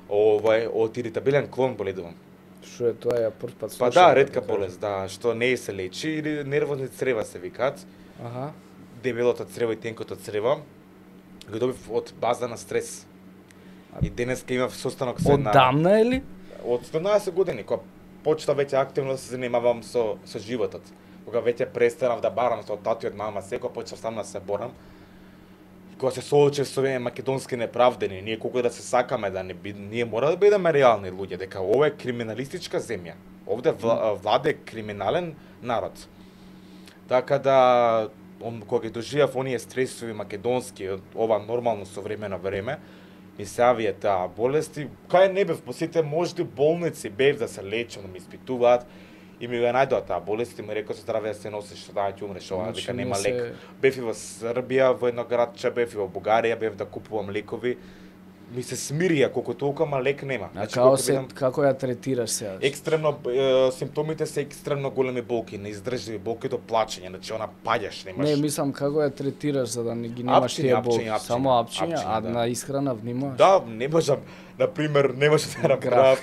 Од иритабилен клон боледувам. Што е тоа, ја прв пат слушам. Па да, ретка болест, да, што не се лечи или нервозни црева се викаат. Аха. Дебелото црево и тенкото црево. Го добив од база на стрес. И денеска имав состанок со една... Одамна или? Од 17 години, кога почна веќе активно да се занимавам со животот. Кога веќе престанав да барам со тати од мама, секој почнав сам да се борам. Кога се соочив со овие македонски неправдени, ние колку да се сакаме да не ние мора да бидеме реални луѓе, дека ова е криминалистичка земја. Овде владе криминален народ. Така да кога ги доживав оние стресови македонски, ова нормално современо време, ми се авија таа болести, кај не бев, по сите можди болници бев да се лечам, да ми испитуваат, и ми го најдоа таа болест и ми рекоа со здраве да се носиш, што да ќе умреш, ова дека нема лек. Бев и во Србија, во едно градче, бев и во Бугарија, бев да купувам лекови, ми се смирија колку толку, ама лек нема. Значи, Значи, како ја третираш сега? екстремно симптомите се екстремно големи болки, неиздржливи болки до плачење, значи она паѓаш, немаш. Не, мислам како ја третираш за да не ги немаш тие болки. Апчиња, Само апчиња, а да. на исхрана внимаваш? Да, не можам, например, не може да направам,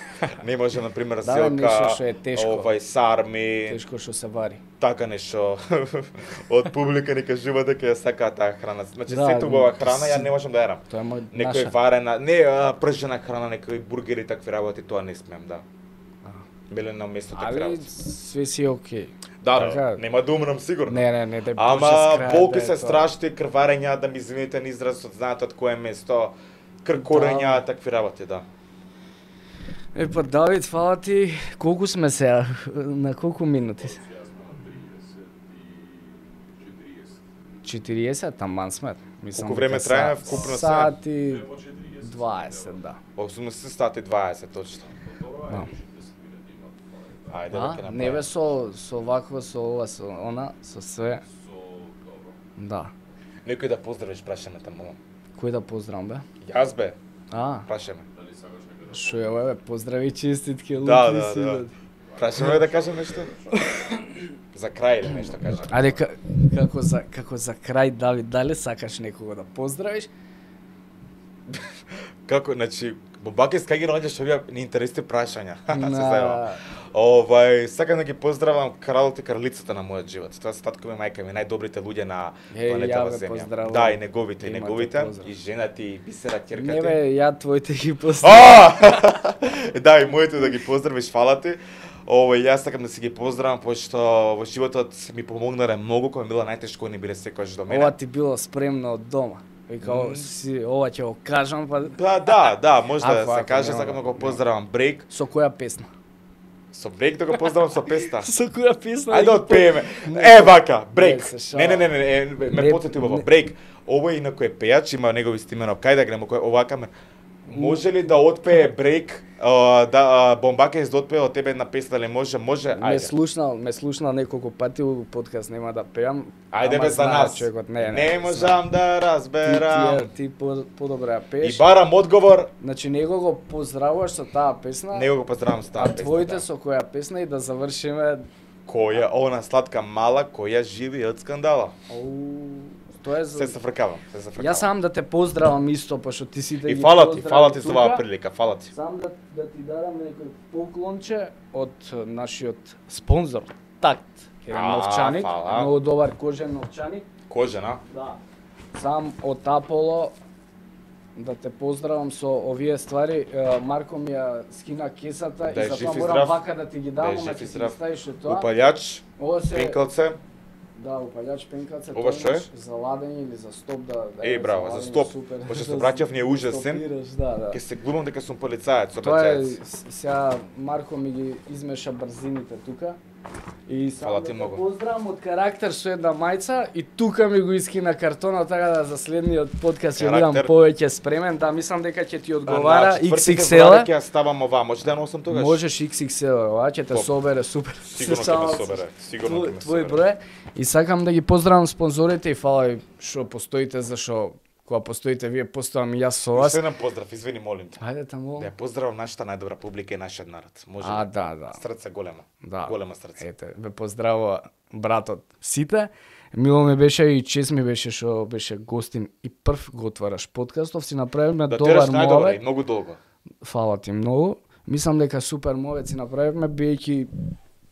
не може, например, Да, селка, нешто што е тешко. сарми, Тешко што се вари. така нешто. Од публика ни кажува дека ја сакаат таа храна. Значи, Да, сето убава храна ја не можам да јадам. Тоа е Некој наша. варена, не пржена храна, некои бургери, такви работи, тоа не смеам, да. Биле на место такви Али работи. све си окей. Да, така- нема да умрам сигурно. Не, да Ама Боже, болки да се е тоа. страшни, крварења, да ми извините на изразот, знаете од кое место, кркорења, такви работи, да. Па Давид, фала ти. Колку сме сега? На колку минути? 40, таман сме. Мислам Колку време дека трае вкупно се? Сат и 20, да. 80 сати 20, точно. Да. Ајде, А, дека не бе со вакво, со ова, со она, со све. Да. Некој да поздравиш, прашаме таму. Кој да поздравам бе? Јас бе, А, прашаме. шо е ова бе? Поздрави, честитки, Да, лутри да, си, да. бе. Прашаме да кажем нешто? За крај или нешто кажем. Ајде, како за крај, Давид, дали сакаш некого да поздравиш? Како, значи, Бомбакис, кај ги наоѓаш овие неинтересни прашања? Се зајавам. На... Сакам да ги поздравам кралот и кралицата на мојот живот. Тоа се татко ми, мајка ми, најдобрите луѓе на планетава ја ве Земја. поздравувам. Да, и неговите, и Имате неговите, поздрав. и женати, и бисера, ќерка Не ти. бе, ја твоите ги поздравам. Да, и моите да ги поздравиш, фала ти. Јас сакам да си ги поздравам, пошто во животот ми помогнале многу, кога ми била најтешко, не биле секогаш до мене. Ова ти било спремно од дома. Вика, ова ќе го кажам, па... Да, може да Ако се каже, нема, сакам да го нема. поздравам Брейк. Со која песна? Со Брейк да го поздравам со песта. Со која песна? Ајде да ги отпееме. Не, Вака, Брейк. не се шала. Не, ме Не, потети убаво. не. Брейк. Овој инако е пејач, има негови стимено. Кај да гледам, овака ме. Може ли да отпее Брейк, Бомбакис да отпее од тебе една песна, дали може? Може, ајде. Ме слушнал неколку пати у подкаст, нема да пеам. Ајде ама бе за знае нас. човекот, Не можам да разберам. Ти подобро ја И пееш. барам одговор, Значи него го поздравуваш со таа песна, него го поздравам со таа а песна. твоите да. со која песна и да завршиме. Која, она сладка мала, која живи од скандала. Тоа е Се за... зафркавам, се зафркавам. Јас сам да те поздравам исто, пошто ти си да И ги фала поздравам ти за тука. оваа прилика, фала ти. Сам да ти дадам некој поклонче од нашиот спонзор, Такт. Еден новчаник, фала. многу добар кожен новчаник. Кожена. Да. Сам од Аполо да те поздравам со овие ствари. Марко ми ја скина кесата Да и е жив затоа и морам здрав. вака да ти ги дам, Да е ама жив ќе и ти здрав. ги ставиш и тоа. Упалјач, Ова се пенкалце. Да, упалјач пенкалце, Ова што е? за ладење или за стоп да Браво, за стоп. Пошто се обраќав не ужасен. Стопираш, да. Ке се глумам дека сум полицаец, Тоа е, обраќаец. сега Марко ми ги измеша брзините тука. И Фала само ти да многу. те поздравам од карактер со една мајца и тука ми го искина картонот, така да за следниот подкаст ќе бидам Карактер. повеќе спремен, да мислам дека ќе ти одговара На 4 XXL. февруари ќе ја ставам ова, може да носам тогаш? Можеш XXL, ова ќе те Поп. собере супер. Сигурно ќе ме собере, сигурно ќе ме Твој собере. број. И сакам да ги поздравам спонзорите и фала ви што постоите, зашо кога постоите вие, постојам и јас со вас. Уште еден поздрав, извини, молим те. Ајде таму. Да ја поздравам нашата најдобра публика и нашиот народ. Може А, ли? да. Срце големо. Да. Големо срце. Ете, ве поздравува братот сите. Мило ми беше и чест ми беше што беше гостин и прв го отвараш подкастов, си направивме Да добар тераш најдобро и мовет. многу долго. Фала ти многу. Мислам дека супер мовет си направивме, биејќи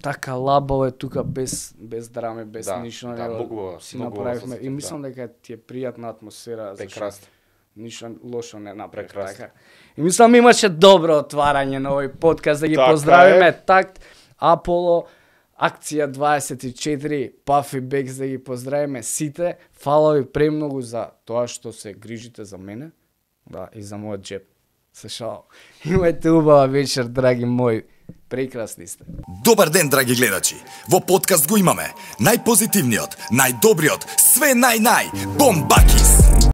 така лабаво е тука без драми, без Да, ништо, да, него многу си многу направивме осетив, и мислам дека ти е пријатна атмосфера, зашто Прекрасно. ништо лошо не направи Прекрасно. така. И мислам имаше добро отварање на овој подкаст, да ги Така поздравиме е. Такт, Аполо, Акција 24, Пафи Бекс, да ги поздравиме сите. Фала ви премногу за тоа што се грижите за мене, да, и за мојот джеб. Се шал. Имајте убава вечер, драги мои. Прекрасни сте. Добар ден, драги гледачи! Во подкаст го имаме најпозитивниот, најдобриот, све нај-нај, Бомбакис!